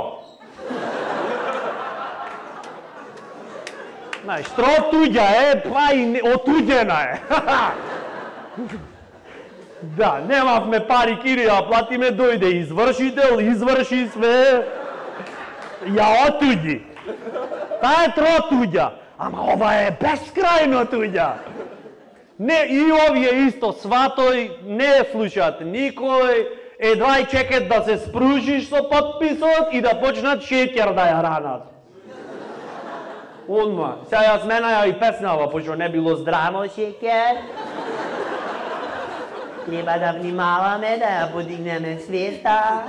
Знаеш, тро туѓа е, па и отуѓена е. Да, немавме пари, кири, а платиме, дојде извршител, изврши све, ја отуѓи. Таа е тро туѓа, ама ова е бескрајно туѓа. Не, и овие исто, сватој, не слушат никој, едва и чекат да се спружиш со подписот и да почнат шеќер да ја ранат. Одма, сега ја сменаја и песнава, пошто не било здраво шеќер. Треба да внимаваме да ја подигнеме свеста.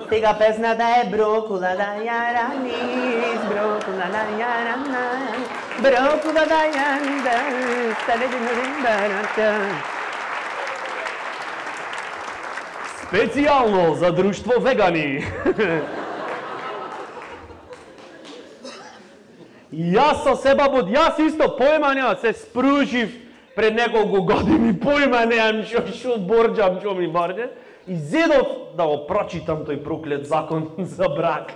Сега песната е брокула да ја раниш, брокула да ја раниш, брокула да ја раниш, специјално за друштво вегани. Јас со себа, јас исто поема нема, се спружив пред неколку години, појма неам шо, шо борџам, шо ми борџам, и зедов да го прочитам тој проклет закон за брак.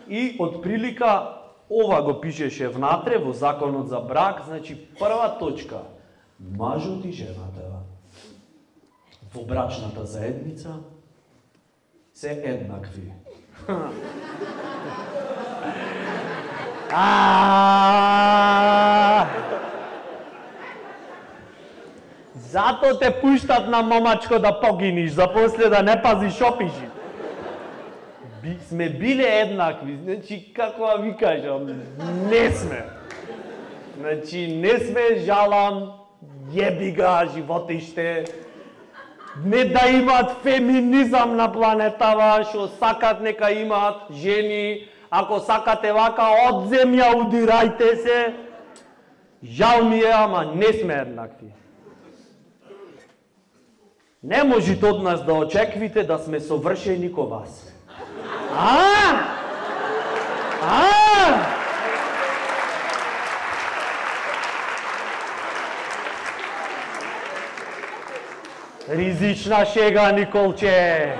И од прилика ова го пишеше внатре во законот за брак, значи прва точка, мажот и жената во брачната заедница се еднакви. Зато те пуштат на момачко да погиниш, за после да не пазиш опиши. Би, сме биле еднакви, значи како ви кажам, не сме. Значи не сме, жалам, јеби га животиште. Не да имат феминизам на планетава, што сакат нека имат жени, ако сакате вака од земја удирајте се. Жал ми е, ама не сме еднакви. Не можете од нас да очеквите да сме совршени ко вас. А? А? Ризична шега, Николче.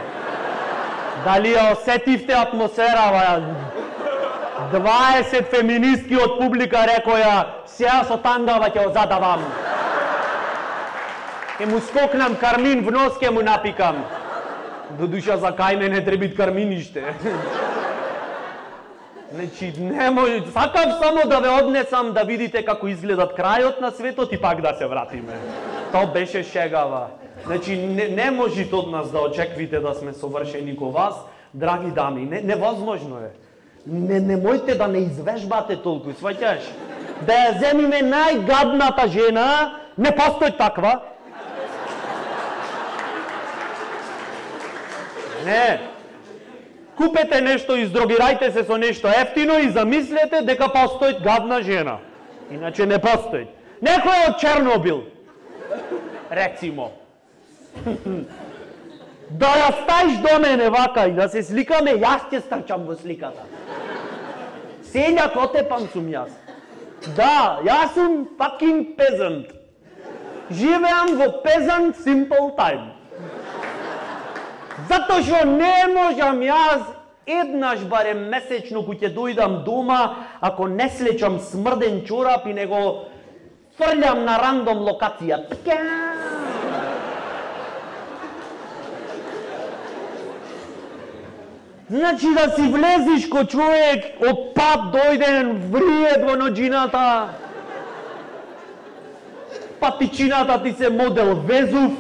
Дали ја осетивте атмосферава? дваесет феминистки од публика рекоја, сега со тангава ќе го задавам. Ке му скокнам кармин в нос, ке му напикам. До душа за кај мене требит карминиште. Значи, не може, сакав само да ве однесам да видите како изгледат крајот на светот и пак да се вратиме. То беше шегава. Значи, не, не можете од нас да очеквите да сме совршени ко вас, драги дами, не, невозможно е. Не, не мојте да не извежбате толку, сваќаш? Да ја земиме најгадната жена, не постои таква. Не. Купете нешто, издрогирајте се со нешто ефтино и замислете дека постои гадна жена. Иначе не постои. Некој од Чернобил, рецимо. Да ја стаиш до мене вака и да се сликаме, јас ќе стрчам во сликата. Сења Котепан сум јас. Да, јас сум fucking peasant. Живеам во peasant simple time. Затоа што не можам јас еднаш барем месечно кога ќе дојдам дома, ако не слечам смрден чорап и не го фрлјам на рандом локација. Значи да си влезиш ко човек, од пат дојден, вриет во ноџината, патичината ти се модел Везув,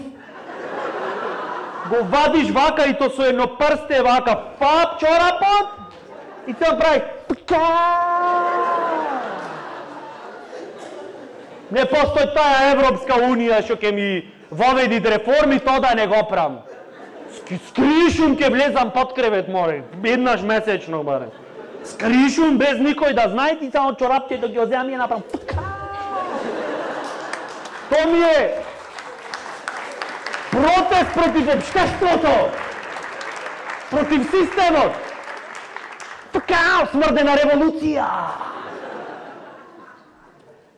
го вадиш вака и то со едно прсте вака, фап чорапот и се прави не постои таа Европска Унија што ќе ми воведи реформи, тоа да не го правам. Скришум ќе влезам под кревет, море, еднаш месечно, баре. Скришум без никој да знае, ти само чорапче да ги оземам и направам. То ми е протест против општеството, против системот. Така, смрдена револуција.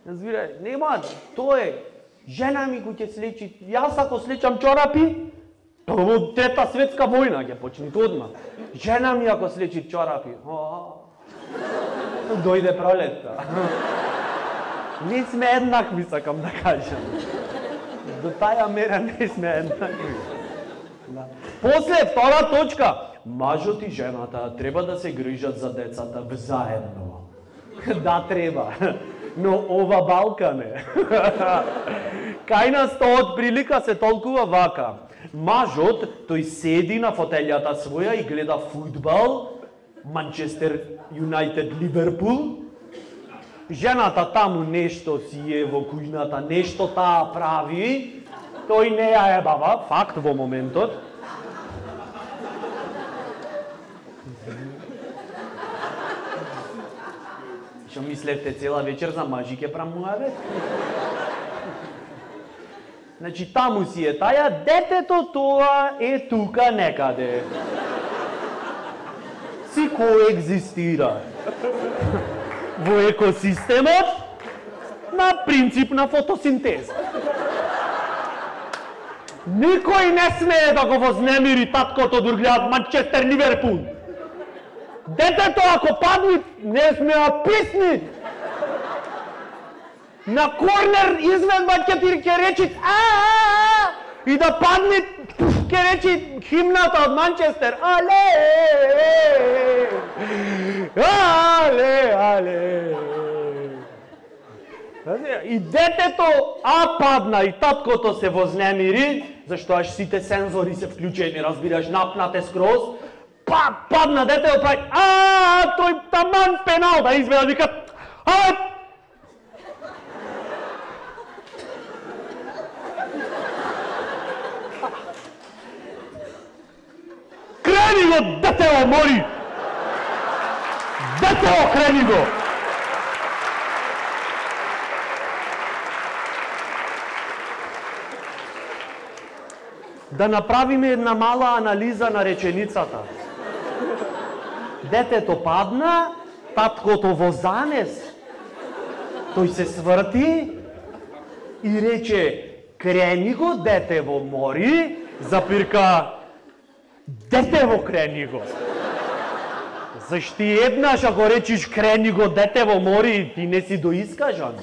Разбирај, нема, тоа е. Жена ми кој ќе слечи, јас ако слечам чорапи, тоа во трета светска војна ќе почне одма. Жена ми ако слечи чорапи, дојде пролетта. Не сме еднакви, сакам да кажам. До таја мера не сме еднакви. Да. После, втора точка. Мажот и жената треба да се грижат за децата заедно. Да, треба. Но ова балка не. Кај нас тоа од прилика се толкува вака. Мажот, тој седи на фотелјата своја и гледа фудбал, Манчестер Юнајтед Ливерпул. Жената таму нешто си е во кујната, нешто таа прави. Тој не ја ебава, факт во моментот. Што мислевте цела вечер за мажи ке прамуваме? Значи таму си е таја, детето тоа е тука некаде. Си коегзистира во екосистемот на принцип на фотосинтеза. Никој не смее да го вознемири таткото док гледат Манчестер Ливерпул. Детето ако падне, не смеа писни. На корнер изведба ќе ќе речи а и да падне ќе речи химната од Манчестер. Але! Але, але. И детето а падна и таткото се вознемири, зашто аж сите сензори се вклучени, разбираш, напнате скроз. Па, падна детето, прави, а, тој таман пенал да изведа, вика, а, крени го, детево, мори! Детево, крени го! Да направиме една мала анализа на реченицата. Детето падна, таткото во замес. Тој се сврти и рече, крени го, детево, мори, запирка, детево, крени го. Зашти еднаш ако речиш крени го, детево, мори, ти не си доискажан.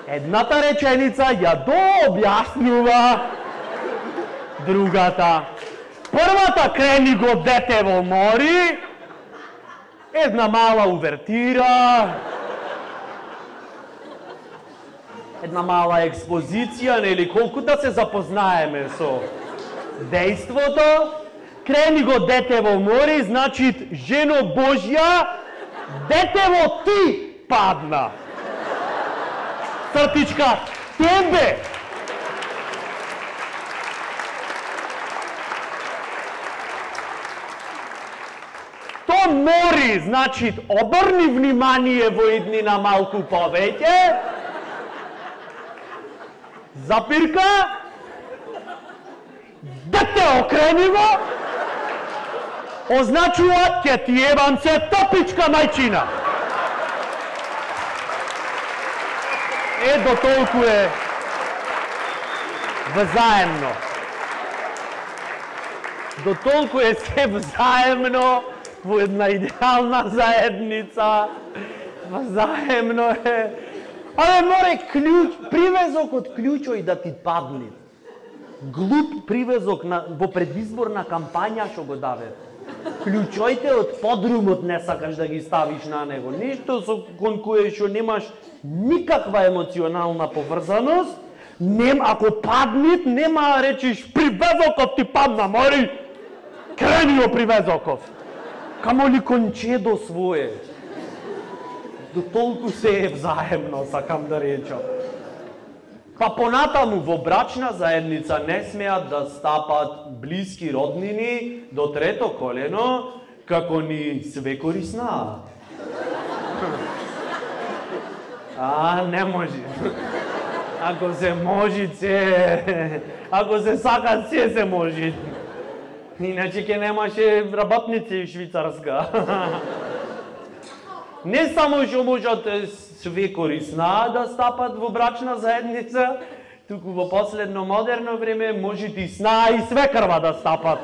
Едната реченица ја дообјаснува другата. Првата крени го, детево, мори, една мала увертира, една мала експозиција, нели, колку да се запознаеме со дејството. Крени го, детево, мори, значи, жено Божја, детево ти падна. Цртичка, тебе! То мори, значи, обрни внимание во иднина малку повеќе. Запирка. Дете, окрени го. Означува, ќе ти ебам се топичка, мајчина. Е, до толку е взаемно. До толку е се взаемно во една идеална заедница. Взаемно е. Але море клjuč, привезок од клjučој да ти падне. Глуп привезок на, во предизборна кампања што го даве. Клjučојте од подрумот не сакаш да ги ставиш на него. Ништо со кон кое што немаш никаква емоционална поврзаност, нем, ако паднит, нема речиш привезоков ти падна, мори, крени го привезоков. Камо ли кончедо свое. До толку се е взаемно, сакам да речам. Па понатаму во брачна заедница не смеат да стапат блиски роднини до трето колено, како ни свекори знаат. А, не може. Ако се може, се... Ако се сака, се се може. Иначе ке немаше работници в Швицарска. Не само што можат свекори знаат да стапат во брачна заедница, туку во последно модерно време може и сна и свекрва да стапат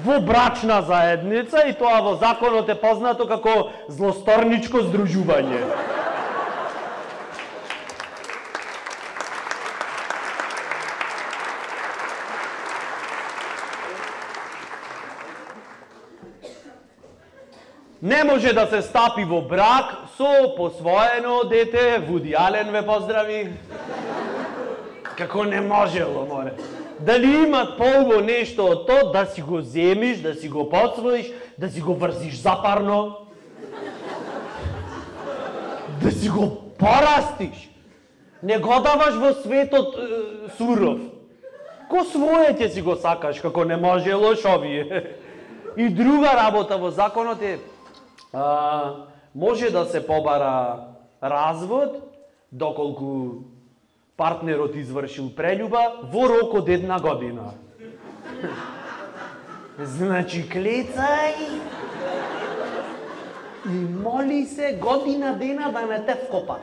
во брачна заедница и тоа во законот е познато како злосторничко здружување. Не може да се стапи во брак со посвоено дете, Вуди Ален ве поздрави. Како не можело, море. Дали имат поубаво нешто од тоа да си го земиш, да си го посвоиш, да си го врзиш запарно, да си го порастиш. Не го даваш во светот е, суров. Ко своје ќе си го сакаш, како не можело шовие. И друга работа во законот е А, може да се побара развод доколку партнерот извршил прелюба во рок од една година. Значи клецај и моли се година дена да не те вкопат.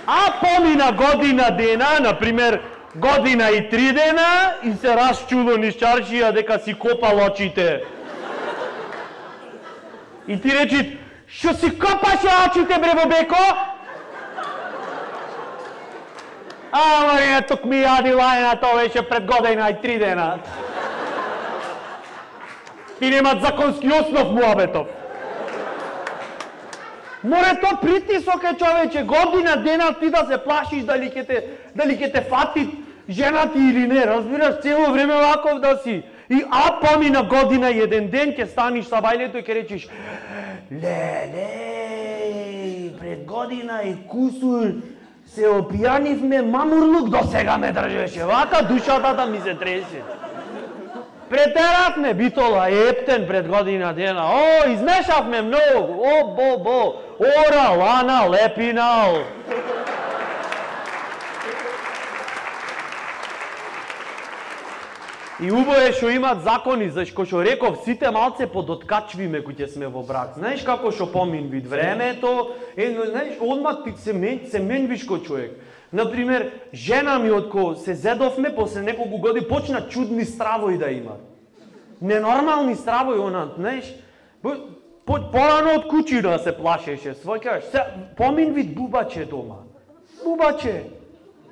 А помина година дена, например, година и три дена, и се расчудо низ чаршија дека си копал очите. И ти речи, шо си копаше очите, бре, бобеко? А, Марина, тук ми јади лајна, тоа беше пред година и три дена. И немат законски основ муабетов. Море то притисок е, човече, година дена ти да се плашиш дали ќе те, дали ќе те фати жена ти или не, разбираш, цело време ваков да си. И а помина година и еден ден ќе станиш са бајлето и ќе речиш, леле, пред година и кусур се опијанивме, мамурлук до сега ме држеше, вака душата да ми се тресе. Претеравме битола ептен пред година дена, о, измешавме многу, о, бо, бо, ора, лана, лепинал. И убаво е што имат закони, зашто што реков, сите малце подоткачвиме кои ќе сме во брак. Знаеш како што помин вид времето, е, знаеш, одма ти се, мен, се менвиш ко човек. Например, жена ми отко се зедовме, после неколку години почна чудни стравои да има. Ненормални стравои, она, знаеш, по, порано од кучи да се плашеше, сваќаш, се, помин вид бубаче дома. Бубаче,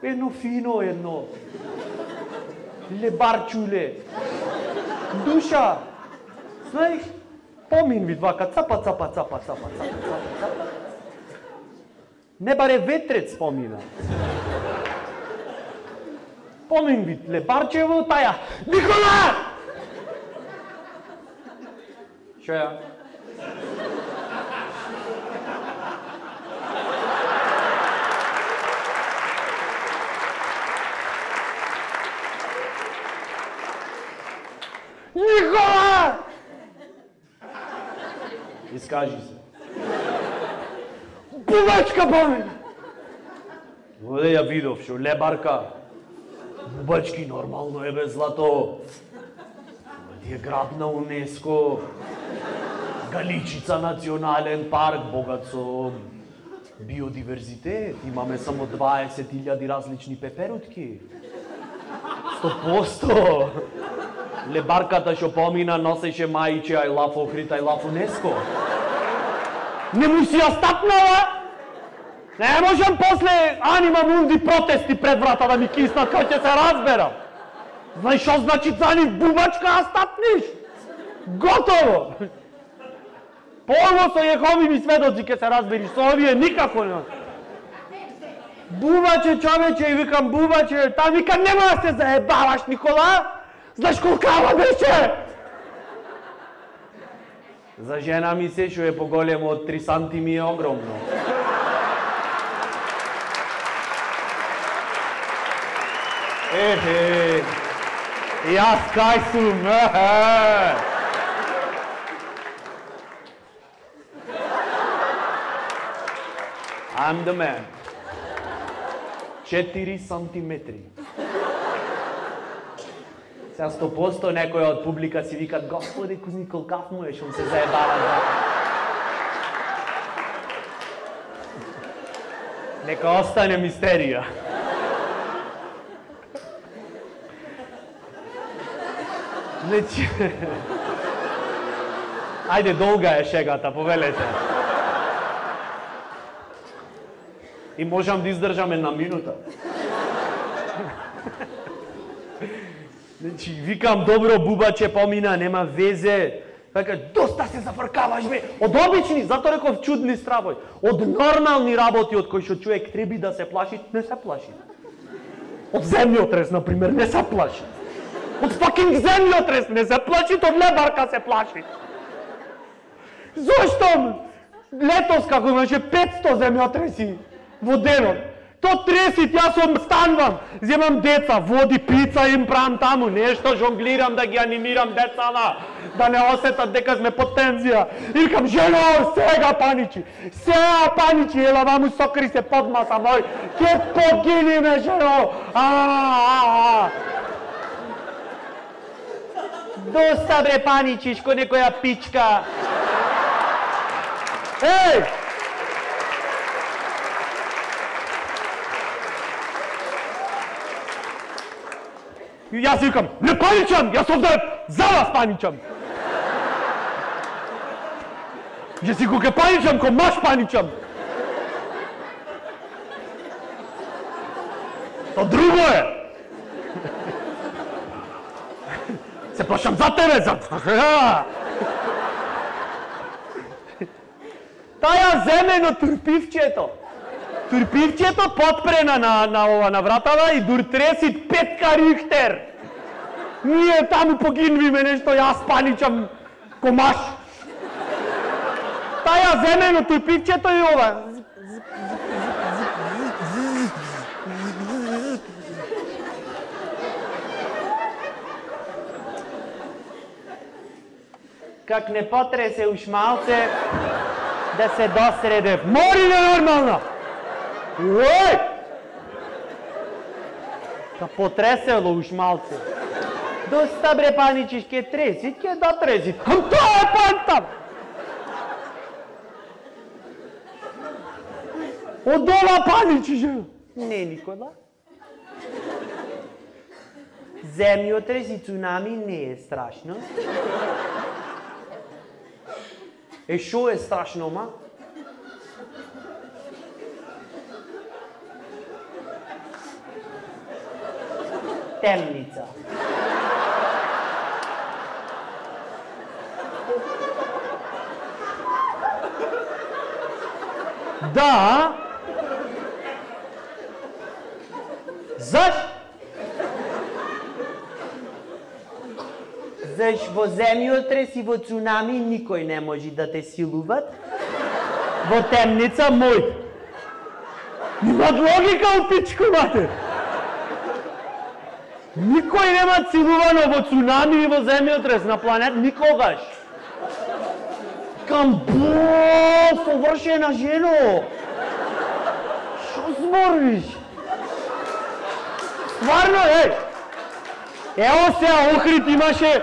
едно фино, едно. Лебарчуле. Душа. Знаеш, помин вид вака, цапа, цапа, цапа, цапа, цапа, цапа. Не баре ветрец помина. Помин вид, лебарчево таја. Никола! Шо ја? Никола! Искажи се. Бубачка помина! Оде ја видов шо, лебарка. Бубачки нормално е без злато. Оде е грабна УНЕСКО. Галичица национален парк, богат со биодиверзитет. Имаме само дваесет илјади различни пеперутки. сто проценти. Лебарката што помина носеше мајче I love Охрид, I love УНЕСКО. Не му си ја стапнала? Не можам после анима мунди протести пред врата да ми киснат, кај ќе се разберам. Знаеш што значи за нив бубачка а стапниш? Готово! Порво со Јеховини сведоци ќе се разбериш, со овие никако не. Бубаче, човече, и викам бубаче, та викам нема да се заебаваш, Никола? Знаеш колкава беше? За жена ми се што е поголемо од три сантими е огромно. Ехе, јас кај сум, ехе. I'm the man. четири сантиметри. Сега сто проценти некој од публика си викат, Господи, кузни колкав му е, шо се заебава да. Нека остане мистерија. Значи... Ајде, долга е шегата, повелете. И можам да издржам една минута. Значи, викам, добро, бубаче помина, нема везе. Така, доста се зафркаваш, бе. Од обични, зато реков чудни стравој. Од нормални работи од кои што човек треби да се плаши, не се плаши. Од земјотрес, например, не се плаши. Од факинг земјотрес не се плаши, од лебарка се плаши. Зошто? Летос, како имаше петсто земјотреси во денот. То тресит, јас станувам, земам деца, води, пица им правам таму, нешто жонглирам да ги анимирам децата, да не осетат дека сме под тензија. И викам, жено, сега паничи, сега паничи, ела ваму сокри се подмаса мој, ке погиниме, жено, а, а, а. Доста бре паничиш ко некоја пичка. Еј! И јас викам, не паничам, јас овде за вас паничам. Јас си кога паничам, ко маш паничам. То друго е. Се плашам за тебе, за... Таја земено турпивчето. Турпивчето потпрена на, на, ова, на вратава и дур тридесет пет Рихтер. Ние таму погинвиме нешто, јас паничам комаш. Таја земено турпивчето и ова. Как не потресе уж малце да се досреде. Мори ненормална! Уј! Ka potreselo уж малце. Доста бре паничиш, ке тресит, ке да тресит. Хм, тоа е пантам! Од ова паничиш? Не, Никола. Земјотрес и цунами не е страшно. Е, шо е страшно, ма? Темница. Да. Заш? Заш во земјотрес и во цунами никој не може да те силуват. Во темница мој. Имат логика у пичку, мате. Никој нема силувано во цунами и во земјотрес на планет никогаш. Кам бо, совршена жено. Шо збориш? Стварно, еј. Ево се, Охрид имаше...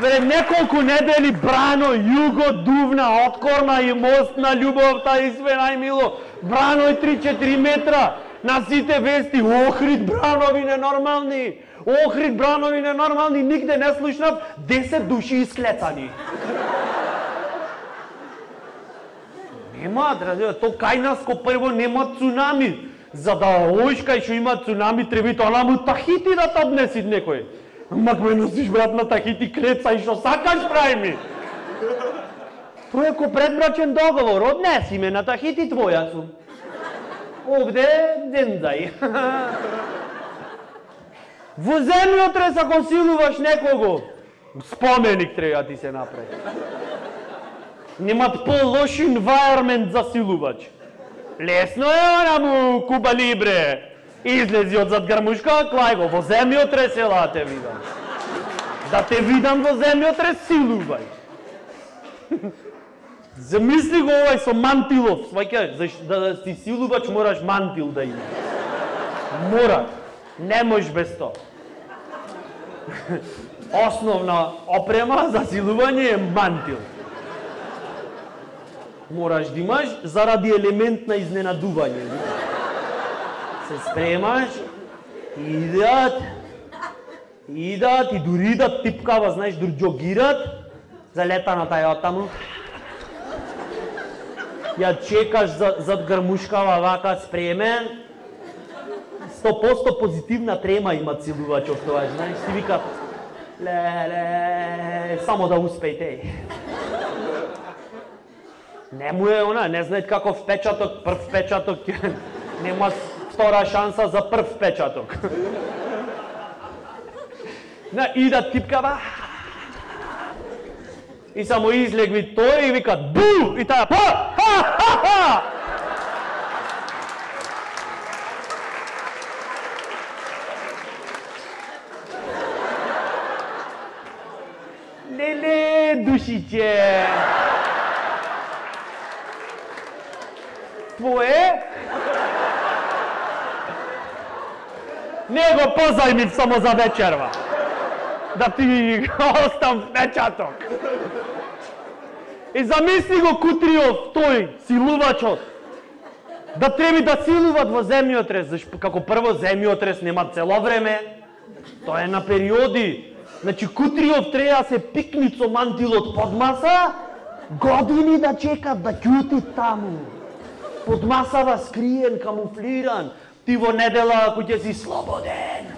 Пред неколку недели Брано, Југо, Дувна, откорна и мост на љубовта и све најмило. Брано е три-четири метра. На сите вести, Охрид, Бранови ненормални. Охрид, Бранови ненормални. Нигде не слушнав десет души исклецани. Нема, драде, то кај нас ко прво нема цунами. За да оиш кај шо има цунами, треби тоа му Тахити да те однеси некој. Мак ме носиш, брат, на Тахити, клеца и шо сакаш, прави ми. Тоа е ко предбрачен договор, однеси ме на Тахити, твоја сум. Овде, дендај. Во земјотрес ако силуваш некого, споменик треба ти се направи. Немат по-лош environment за силувач. Лесно е, она му Куба Либре. Излези од зад грмушка, клај го, во земјотрес ела те видам. Да те видам во земјотрес, силувај. Замисли го овај со мантилов, сваќаш, за да си силувач мораш мантил да има. Мора, не можеш без тоа. Основна опрема за силување е мантил. Мораш да имаш заради елемент на изненадување. Се спремаш, идат, идат и дури да типкава, знаеш, дури джогират, залета на тај отаму. Ја чекаш за, зад грмушкава вака спремен. сто проценти позитивна трема има целувачов тоа, знаеш, си вика, леле, само да успејте. Не му е она, не знаат каков впечаток, прв впечаток, нема втора шанса за прв впечаток. И да типкава, и само излегви тој и вика бу! И таа па! Ха! Ха! Ха! Леле, душиче! Твое? Не го позајмив само за вечерва. Да ти остам впечаток. И замисли го Кутриов, тој, силувачот, да треби да силуват во земјотрес, зашто како прво земјотрес нема цело време, тоа е на периоди. Значи Кутриов треба да се пикни со мантилот под маса, години да чекат да ќути таму. Под масава скриен, камуфлиран, ти во недела кој ќе си слободен.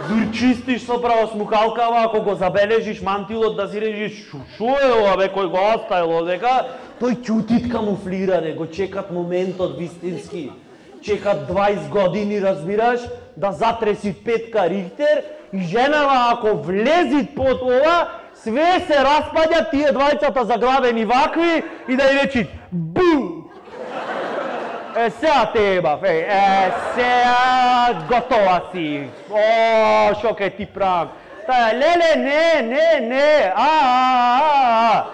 Дур чистиш со правосмукалкава, ако го забележиш мантилот да си режиш шо е ова бе, кој го оставил дека, тој ќутит камуфлиране, го чекат моментот вистински. Чекат дваесет години, разбираш, да затреси петка Рихтер и женава ако влезит под ова, све се распаѓа, тие двајцата заглавени вакви и да ја речит бу! Е, сега те ебав, е, е, сега готова си. О, шо ке ти правам? Таја, леле, не, не, не, а, а, а,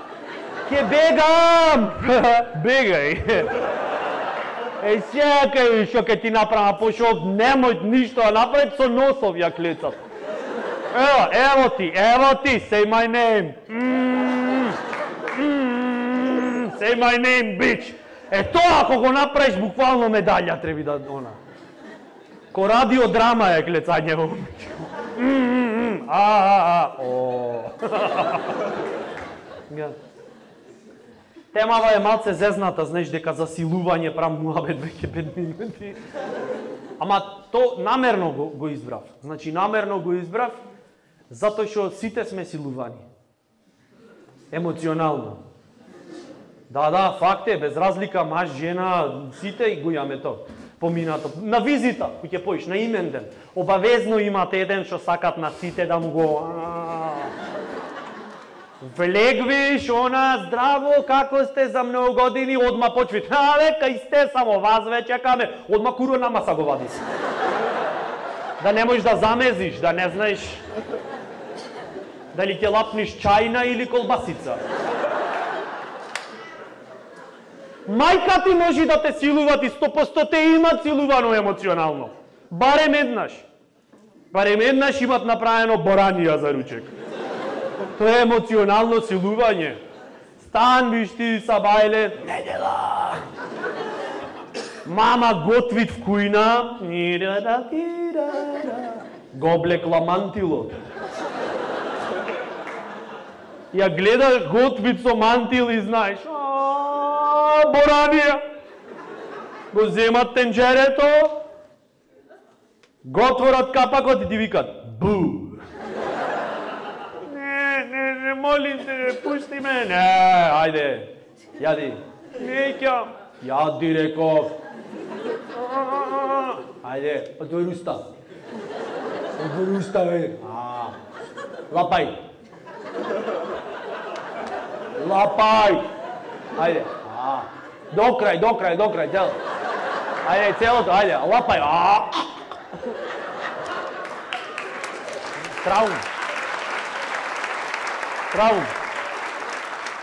ке бегам. Бегај. Е, сега ке, шо ке ти направам, пошо немој ништо, а направи со носов ја клецат. Ево, ево ти, ево ти, say my name. Mm, mm, say my name, bitch. Е тоа ако го направиш буквално медалја треби да она. Ко радиодрама е клецање во. А а а. О. Темава е малце зезната, знаеш дека за силување прам муабет веќе пет минути. Ама то намерно го, го избрав. Значи намерно го избрав затоа што сите сме силувани. Емоционално. Да, да, факт е, без разлика маж, жена, сите и го имаме тоа. Поминато. На визита, кој ќе поиш, на имен ден. Обавезно имате еден што сакат на сите да му го... Влегвиш, она, здраво, како сте за многу години, одма почвит. Але, кај сте, само вас ве чекаме. Одма куро на маса го вади си. Да не можеш да замезиш, да не знаеш дали ќе лапниш чајна или колбасица. Мајка ти може да те силува, ти сто поsto те имат силувано емоционално. Барем еднаш. Барем еднаш имат направено боранија за ручек. Тоа е емоционално силување. Стан, виш ти са бајле, недела. Мама готвит в кујна. Го облекла мантилот. Ја гледаш готвит со мантил и знаеш, боранија. Го земат тенџерето, го отворат капакот и ти викат бу. Не, не, не, молим те, пушти ме. Не, ајде, јади. Неќам. Јади, реков. Ајде, отвори уста. Отвори уста, бе. Лапај. Лапај. Ајде. До крај, до крај, до крај, цел. Ајде, целото, ајде, лапај. Траум. Траум.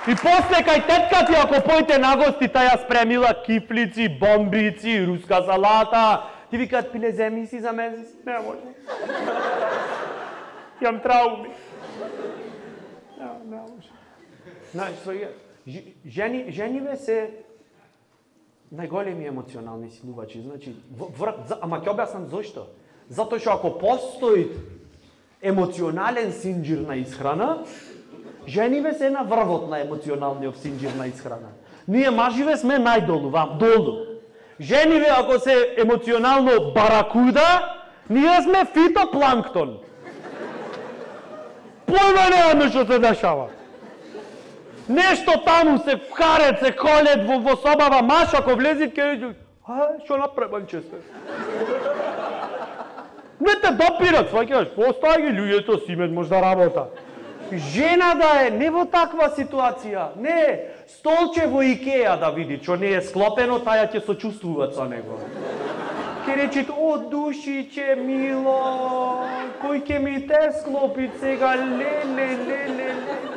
И после кај тетка ти, ако појте на гости, таја спремила кифлици, бомбици, руска салата. Ти викаат, пиле, земи си за месец. Не може. Јам трауми. Не, не може. Знаеш, своја... Жени, жениве се најголеми емоционални силувачи. Значи, врат, ама ќе објаснам зошто. Затоа што ако постои емоционален синџир на исхрана, жениве се на врвот на емоционалниот синџир на исхрана. Ние маживе сме најдолу, вам, долу. Жениве ако се емоционално баракуда, ние сме фитопланктон. Појма немаме што се дешава. Нешто таму се карет, се колет во, во собава маш, ако влезит ке иди, а, што напребанче сте? Не те допират, сваќаш, остај ги луѓето си имат можда работа. Жена да е не во таква ситуација, не, столче во Икеа да види, што не е склопено, таја ќе сочувствуват со него. Ке речит, о, душиче, мило, кој ќе ми те склопит сега, ле, ле, ле, ле, ле.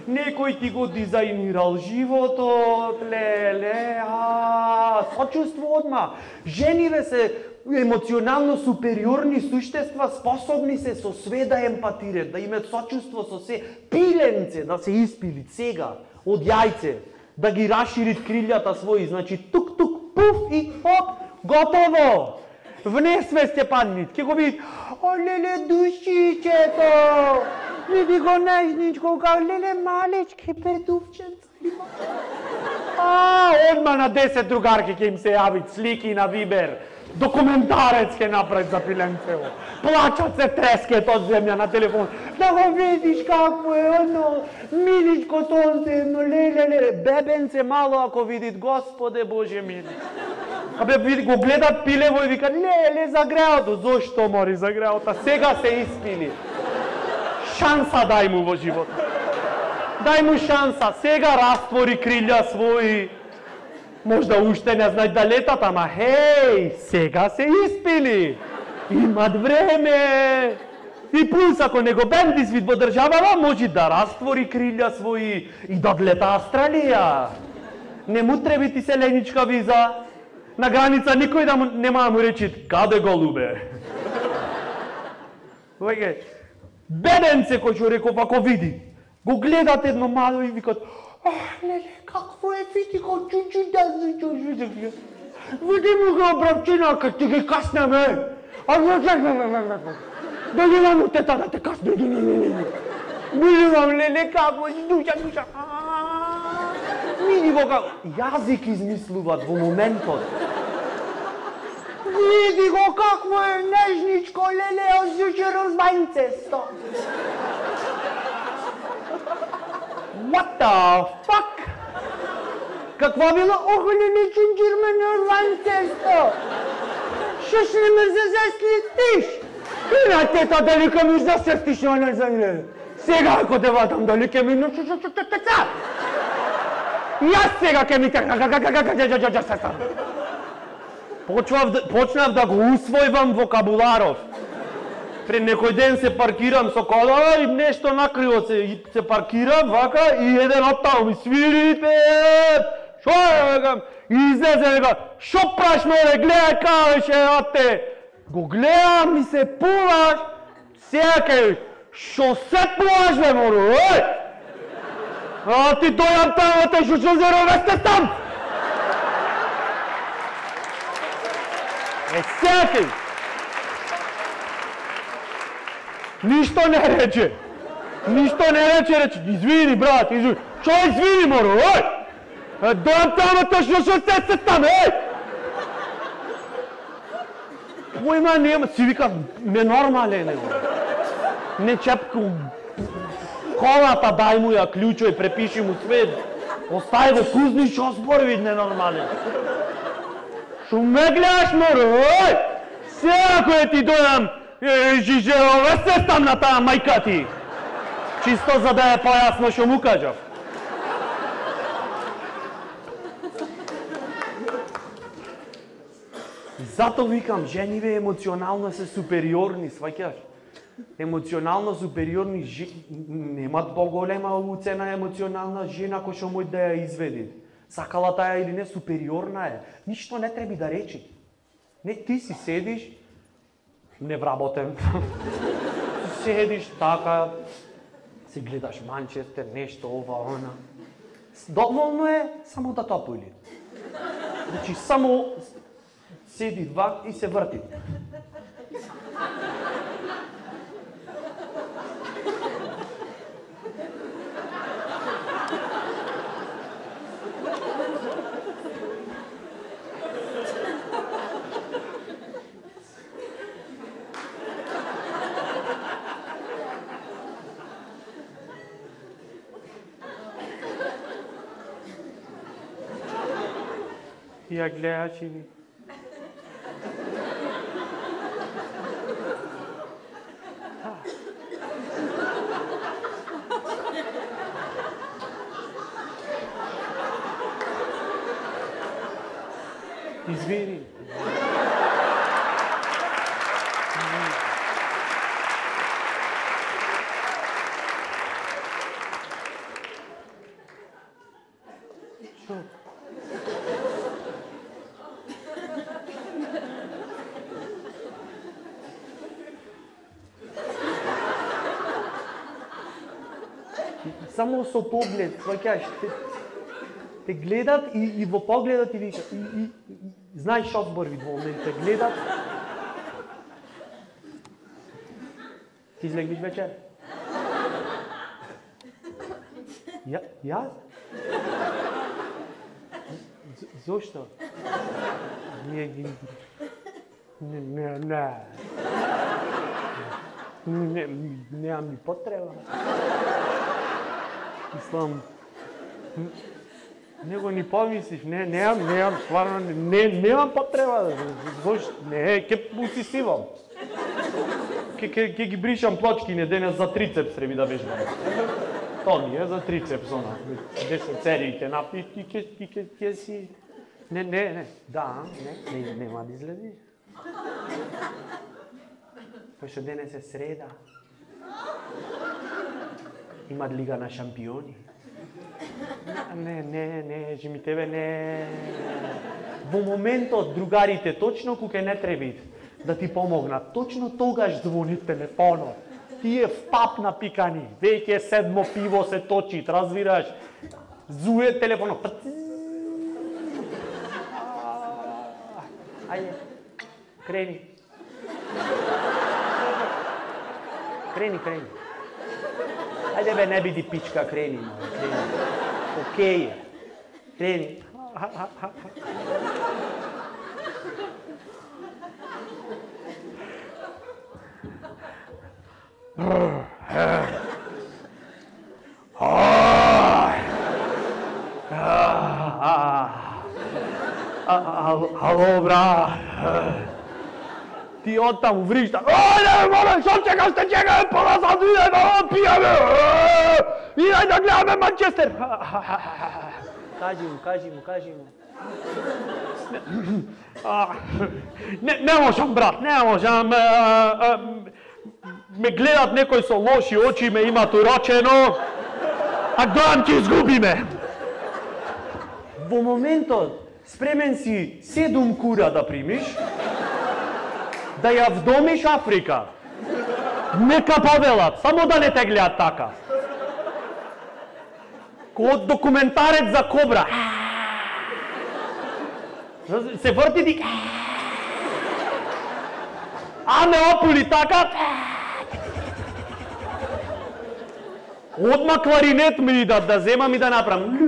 Некој ти го дизајнирал животот, леле, а, сочувство одма. Жениве се емоционално супериорни суштества, способни се со све да емпатират, да имат сочувство со се. Пиленце да се испилит сега од јајце, да ги расширит крилјата своји, значи тук-тук, пуф и оп, готово. Внесве Степанит, ке го види, о, леле, душичето, види го нежничко, као, леле, малечки пердувченца има. А, одма на десет другарки ке им се јавит слики на Вибер, документарец ке направи за пиленцево, плачат се трескет од земја на телефон, да го видиш какво е, оно, миличко сонце, едно, леле, леле, бебенце мало ако видит, Господе Боже мили. Абе, види, го гледат пилево и вика, леле, загреото. Зошто мори загреото? Сега се испили. Шанса дај му во живота. Дај му шанса. Сега раствори крилја своји. Можда уште не знај да летат, ама хеј, сега се испили. Имат време. И плюс, ако не го бенди свит во државава, може да раствори крилја своји и да одлета Австралија. Не му треби ти селеничка виза. На граница никој да му, нема да му речи, каде голубе? Веќе, бебенце кој што реков, ако види, го гледат едно мало и викат, ах, леле, какво е, види го, чу-чу, да, чу-чу, да, види му го, бравчина, кај ти ги каснеме. А, да ги дам тета да те касне, види леле, како, душа, душа, види го како, јазик измислуват во моментот. Види го какво е нежничко, леле, озјучеро збајнцесто. What the fuck? Каква била? Ох, леле, чунџирмено збајнцесто. Шо ще не ме заслетиш? И на тета дали ке ми засртиш, не знам. Сега ако те ватам, дали ке ми нушушушушушуца? Јас сега ке ми така. Почнав да го усвојвам вокабуларов. Пред некој ден се паркирам со кола и нешто накриво се, се паркирам, вака, и еден од таму ми свирите. Шо е, векам, и излезе, века, шо праш море, гледај кавеше, ате. Го гледам и се пуваш, сега ке, шо се пуваш, бе, моро, ој? А ти дојам таму, те шо шо зеро весте там? Е, сега ништо не рече. Ништо не рече, рече, извини, брат, извини. Чо извини, моро, ој? Дојам таму, те шо шо сте там, ој? Појма нема, си вика, ненормален е, не чепку. Колата дај му ја клучој, препиши му свет. Остај го кузни, шо зборви ненормален. Шо ме гледаш, моро, ој? Сега кој ти дојам, жижеро, се там на таа мајка ти. Чисто за да е појасно шо му кажав. Зато викам, жениве емоционално се супериорни, сваќаш? Емоционално супериорни немат поголема уцена емоционална жена кој што може да ја изведи. Сакала таа или не, супериорна е. Ништо не треба да речи. Не, ти си седиш, невработен. Седиш така, си гледаш Манчестер, нешто ова, она. Доволно е само да топули. Значи, само седи два и се врти. Ја гледаш и извини. само со поглед, сваќаш, те, те гледат и, и во погледот ти вика, и, и, и знаеш што зборви во момент, те гледат. Ти излегнеш вечер? Ја, јас? Зошто? Не, не, не, не, не. Не, немам ни потреба. Мислам, него ни помислиш, не, немам, немам, стварно, не, немам потреба. Зошто? Не, ке усисивам. Ке, ке, ке ги бришам плочки, не денес за трицепс треби да вежбам. То ми е за трицепс, она. десет серии ке напиш, ти ке, ти ке, ке си... Не, не, не, да, не, не, нема да излезиш. Пошто денес е среда. Имат лига на шампиони. Не, не, не, жи ми тебе не... Во моментот другарите точно кога не требит да ти помогнат, точно тогаш звони телефонот. Ти е в пап напикани, веќе седмо пиво се точи, разбираш? Зуе телефонот. Ајде, крени. Крени, крени. Ајде бе, не биди пичка, крени, крени. Океј е. Крени. Ало, брат. Ти оттаму вришта. Ајде, моля, што чекаш, те чекаме, пола сад иде да пијаме. Иде да гледаме Манчестер. Кажи му, кажи му, кажи му. Не, не можам, брат, не можам. Ме гледат некои со лоши очи, ме имат урочено, а гледам ќе изгубиме. Во моментот спремен си седум кура да примиш, да ја вдомиш Африка. Нека повелат, само да не те гледат така. Код документарец за кобра. Се врти ти. А не опули така. Одма кларинет ми да, да земам и да направам.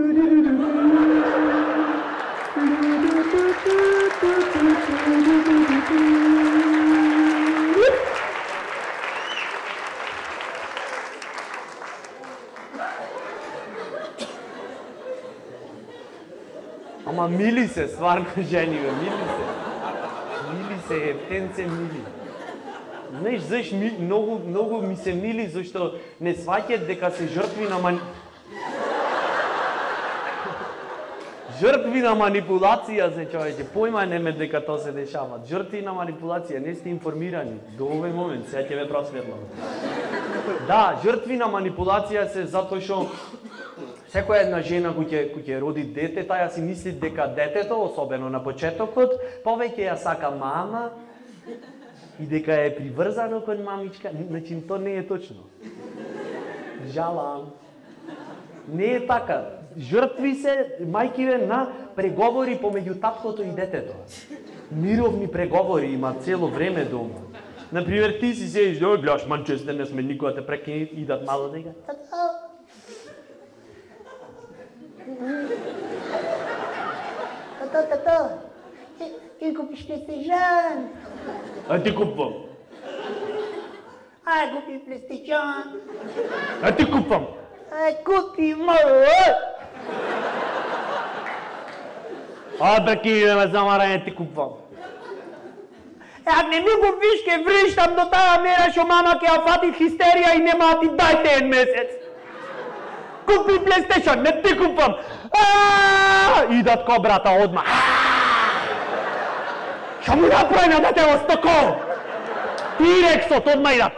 Ама мили се, стварно жени, бе, мили се. Мили се, ептен се мили. Знаеш, заш ми, многу, многу ми се мили, зашто не сваќат дека се жртви на мани... Жртви на манипулација се, човече, појма неме дека тоа се дешава. Жртви на манипулација, не сте информирани до овој момент, сега ќе ве просветлам. Да, жртви на манипулација се затоа што секоја една жена која ќе роди дете, таа си мисли дека детето, особено на почетокот, повеќе ја сака мама и дека е приврзано кон мамичка. Значи, тоа не е точно. Жалам. Не е така. Жртви се мајкиве на преговори помеѓу таткото и детето. Мировни преговори има цело време дома. Например, ти си седиш, да гледаш Манчестер, не сме никога те прекини, идат мало дека. Тато, тато, ти купиш PlayStation. А ти купвам. Ај, купи PlayStation. А ти купвам. Ај, купи, мој. А, беки, ме замарање, ти купвам. Ако не ми го виш, ке вришам до таа мера што мама ќе ја фати хистерија и нема да ти дајте еден месец. Купи PlayStation, не ти купвам. Идат кобрата одма. Што му направи на детево стокол? Тирексот одма идат.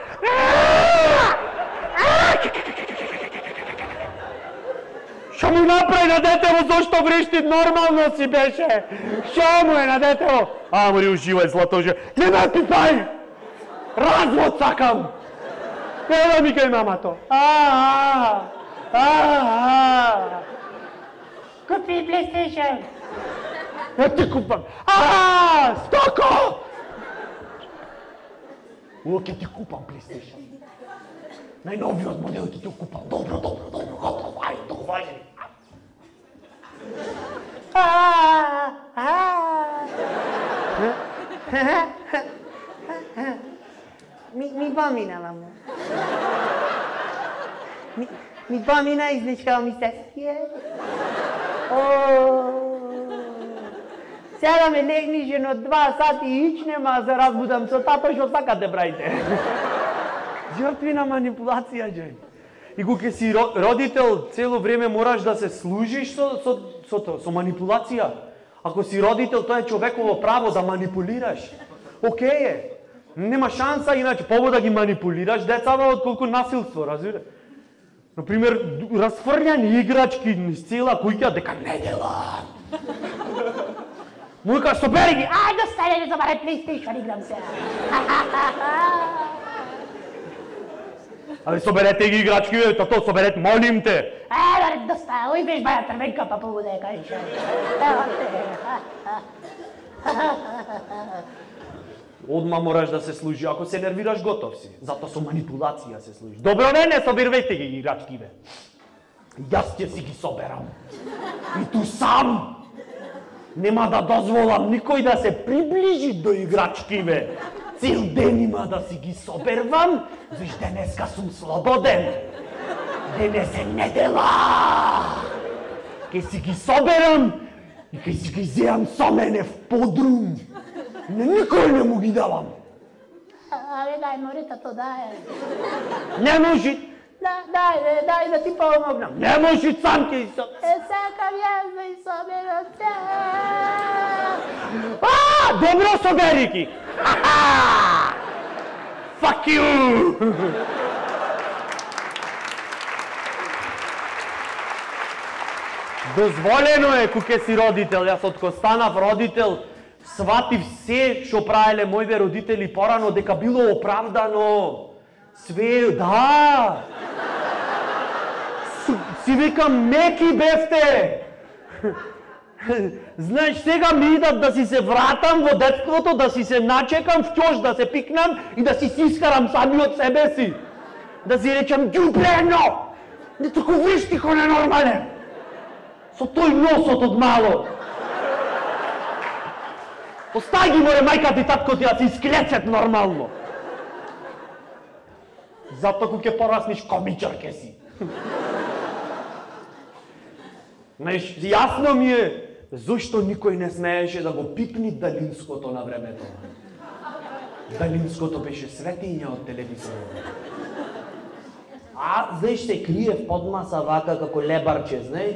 Што му направи на детево, зошто вришти, нормално си беше. Што му е на детево? А, мори, уживај, златоже. Не ме пипај! Развод сакам! Не да ми кај мамато. А, А, купи PlayStation. Не ти купам. А, стоко! О, ќе ти купам PlayStation. Најновиот модел ќе ти купам. Добро, добро, добро, готово, ајде, договајање. А, а. Mi, mi pomina, mamo. Mi, mi pomina i značkao mi sesije. Сега ме легниш едно два сати и ичнем, а се разбудам со тато што сакате правите. Жртви на манипулација, Джен. И кога си родител, цело време мораш да се служиш со, со, со, со, со манипулација. Ако си родител, тоа е човеково право да манипулираш. Океј е. Нема шанса, иначе побо да ги манипулираш децава отколку насилство, разбира. Например, расфрљани играчки низ цела куќа дека не дела. Му кажа, собери ги, ајде стаје да забаре PlayStation, играм се. Абе, соберете ги играчки, бе, тато, соберете, молим те. Е, да доста, ој беш баја трвенка, па побуде, кажеш. Одма мораш да се служи, ако се нервираш, готов си. Зато со манипулација се служи. Добро, не, не, собирвајте ги играчки, бе. Јас ќе си ги соберам. И ту сам. Нема да дозволам никој да се приближи до играчки, бе. Цел ден има да си ги собервам, виж денеска сум слободен. Денес е недела. Ке си ги соберам и ке си ги зеам со мене в подрум. Не, никој не му ги давам. Абе, дај, море, тато, дај. Не може. Да, дај, дај да ти помогнам. Не може, сам ќе и соберам. Е, сакам јас да и соберам те. А, добро, собери ги. Fuck you! Дозволено е кога си родител, јас од кога станав родител, сватив се што правеле моите родители порано дека било оправдано. Све, да. С, си викам, меки бевте. Знаеш, сега ми идат да си се вратам во детството, да си се начекам в ќош, да се пикнам и да си сискарам сами од себе си. Да си речам, ѓублено! Не тако виж тихо ненормален. Со тој носот од мало. Остај ги, море, мајка ти, татко ти, да си исклецет нормално. Зато кога ќе порасниш, комичар ке си. Знаеш, јасно ми е зошто никој не смееше да го пипни далинското на времето. Далинското беше светиња од телевизорот. А, знаеш, се крие в подмаса вака како лебарче, знаеш?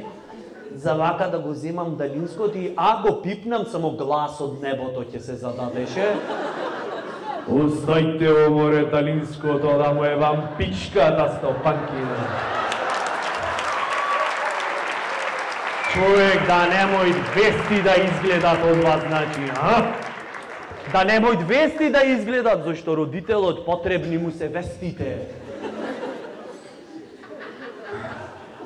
За вака да го земам далинското и а го пипнам, само глас од небото ќе се зададеше. Оставите море далинското да му е вам пичката стопанкина. Човек да немој вести да изгледат од вас, значи, а? Да немој вести да изгледат, зашто родителот потребни му се вестите.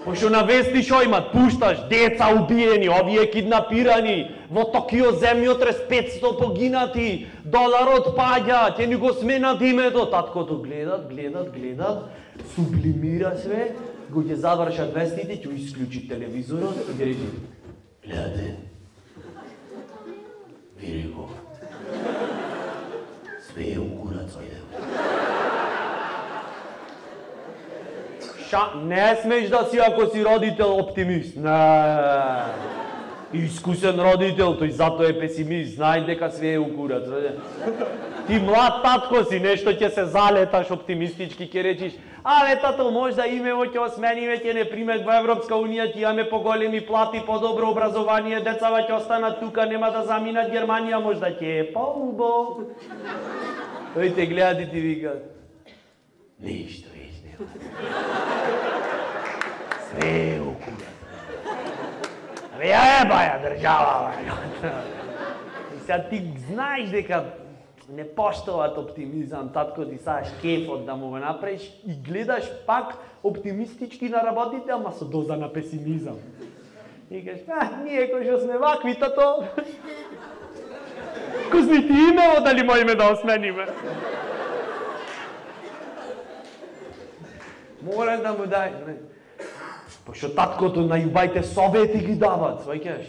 Пошто на вести шо имат? Пушташ деца убиени, овие киднапирани, во Токио земјотрес петсто погинати, доларот паѓа, ќе ни го сменат името. Таткото гледат, гледат, гледат, сублимира све, го ќе завршат вестите, ќе исклучи телевизорот и ќе речи: гледате, ви реков, све е у курац, ајде. Ша, не смеш да си ако си родител оптимист. Не. Искусен родител, тој зато е песимист, знај дека све е у курац. Ти млад татко си, нешто ќе се залеташ оптимистички, ќе речиш: абе тато, можда имево ќе осмениме, ќе не примет во Европска унија, ќе имаме поголеми плати, подобро образование, децава ќе останат тука, нема да заминат Германија, можда ќе е поубаво. Тој те гледа и ти вика: ништо веќе нема. Све е у курац. Абе ја е баја држава, баја. И сега ти знаеш дека не поштоват оптимизам, татко ти саш кефот да му го направиш и гледаш пак оптимистички на работите, ама со доза на песимизам. И кажеш, а, ние кои што сме вакви, тато, козни ти имево дали можеме да осмениме? Мора да му дај, не. Пошто таткото на јубајте совети ги дават, сваќаш.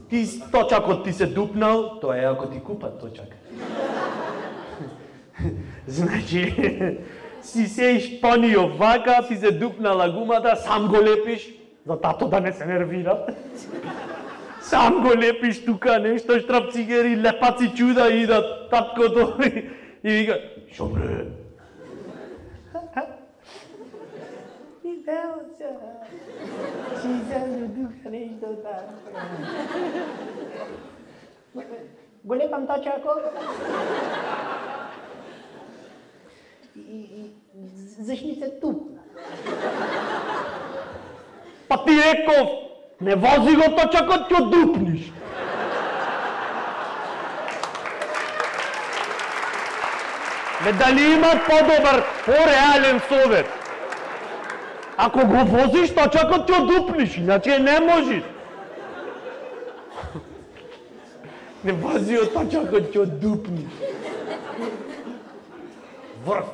Ти точакот ти се дупнал, тоа е ако ти купат точак. Значи, си сеиш панио вака, ти се дупнала гумата, сам го лепиш, за тато да не се нервира. Сам го лепиш тука, нешто штрапцигери, лепаци чуда идат, таткото и вика, шо бре? Evo se, si se duka nešto tako. Golepam tačako. I, i začni se tupna. Pa ti rekov, ne vozi го точакот, ќе дупниш. Ме дали има по-добар, по-реален совет? Ако го возиш, точакот ќе дупниш, иначе не можеш. Не вози од точакот ќе дупниш. Врв.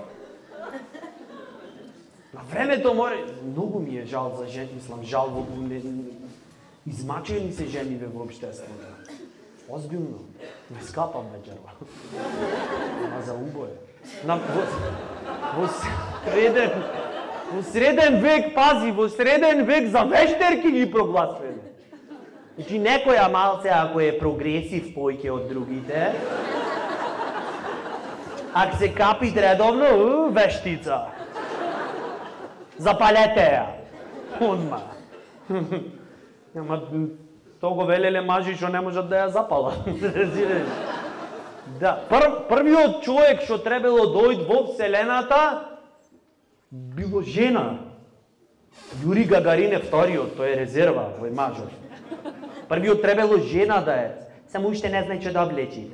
На времето море, многу ми е жал за жени, мислам, жал во измачени се жениве во општеството. Озбилно, не скапам вечерва. Ама за убое. На, во, во среден, во среден век, пази, во среден век за вештерки ги прогласваме. Значи некоја малце, ако е прогресив појќе од другите, ако се капи редовно, у, вештица. Запалете ја. Одма. Ама то го велеле мажи што не можат да ја запала. Да, пр, првиот човек што требало дојд во Вселената било жена. Јури Гагаринев вториот, тој е резерва, тој мажор. Првиот требало жена да е, само уште не знае што да облечи.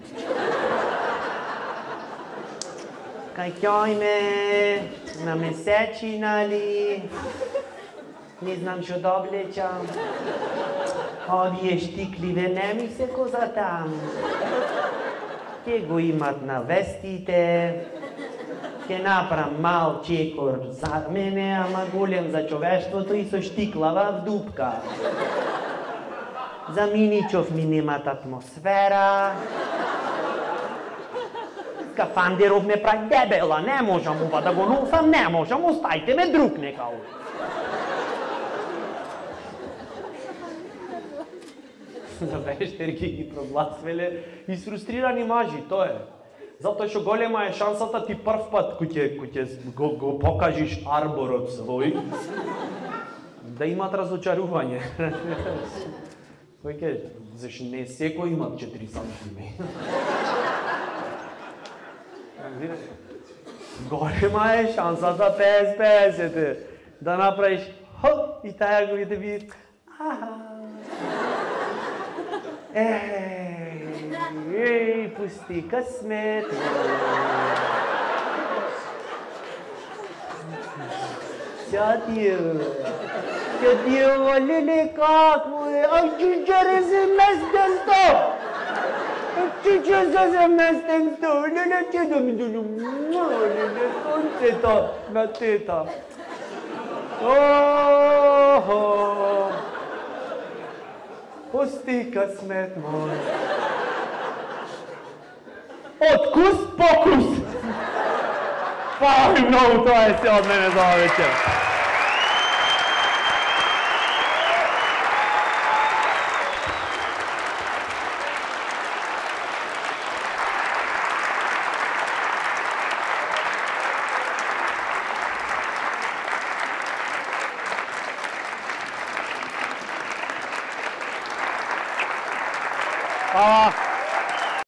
Кај ќојме на месечина ли, не знам што да облечам. Овие штикливе не ми се коза там. Ке го имат на вестите, ке направам мал чекор за мене, ама голем за човештвото и со штиклава в дупка. За Миничов ми немат атмосфера. Скафандеров ме прави дебела, не можам ова да го носам, не можам, оставите ме друг некао. За вештерки ги прогласвеле изфрустрирани мажи, тоа е. Затоа што голема е шансата ти прв пат кој ќе кој ќе го, го покажиш арборот свој да имат разочарување. Кој ќе, зашто не секој имат четири сантими. Голема е шансата петдесет петдесет да направиш хоп и таа го види ви. Ей, ей, пусти късмет. Сядио, сядио, леле, как му е? Ай, чичаре се местен то! Чичаре се местен то! Леле, че да ми долю, леле, сонцето на тета. О-хо! Пусти късмет мой. Откус покус! Фала ви много, тоа е се од мене за ова вечер.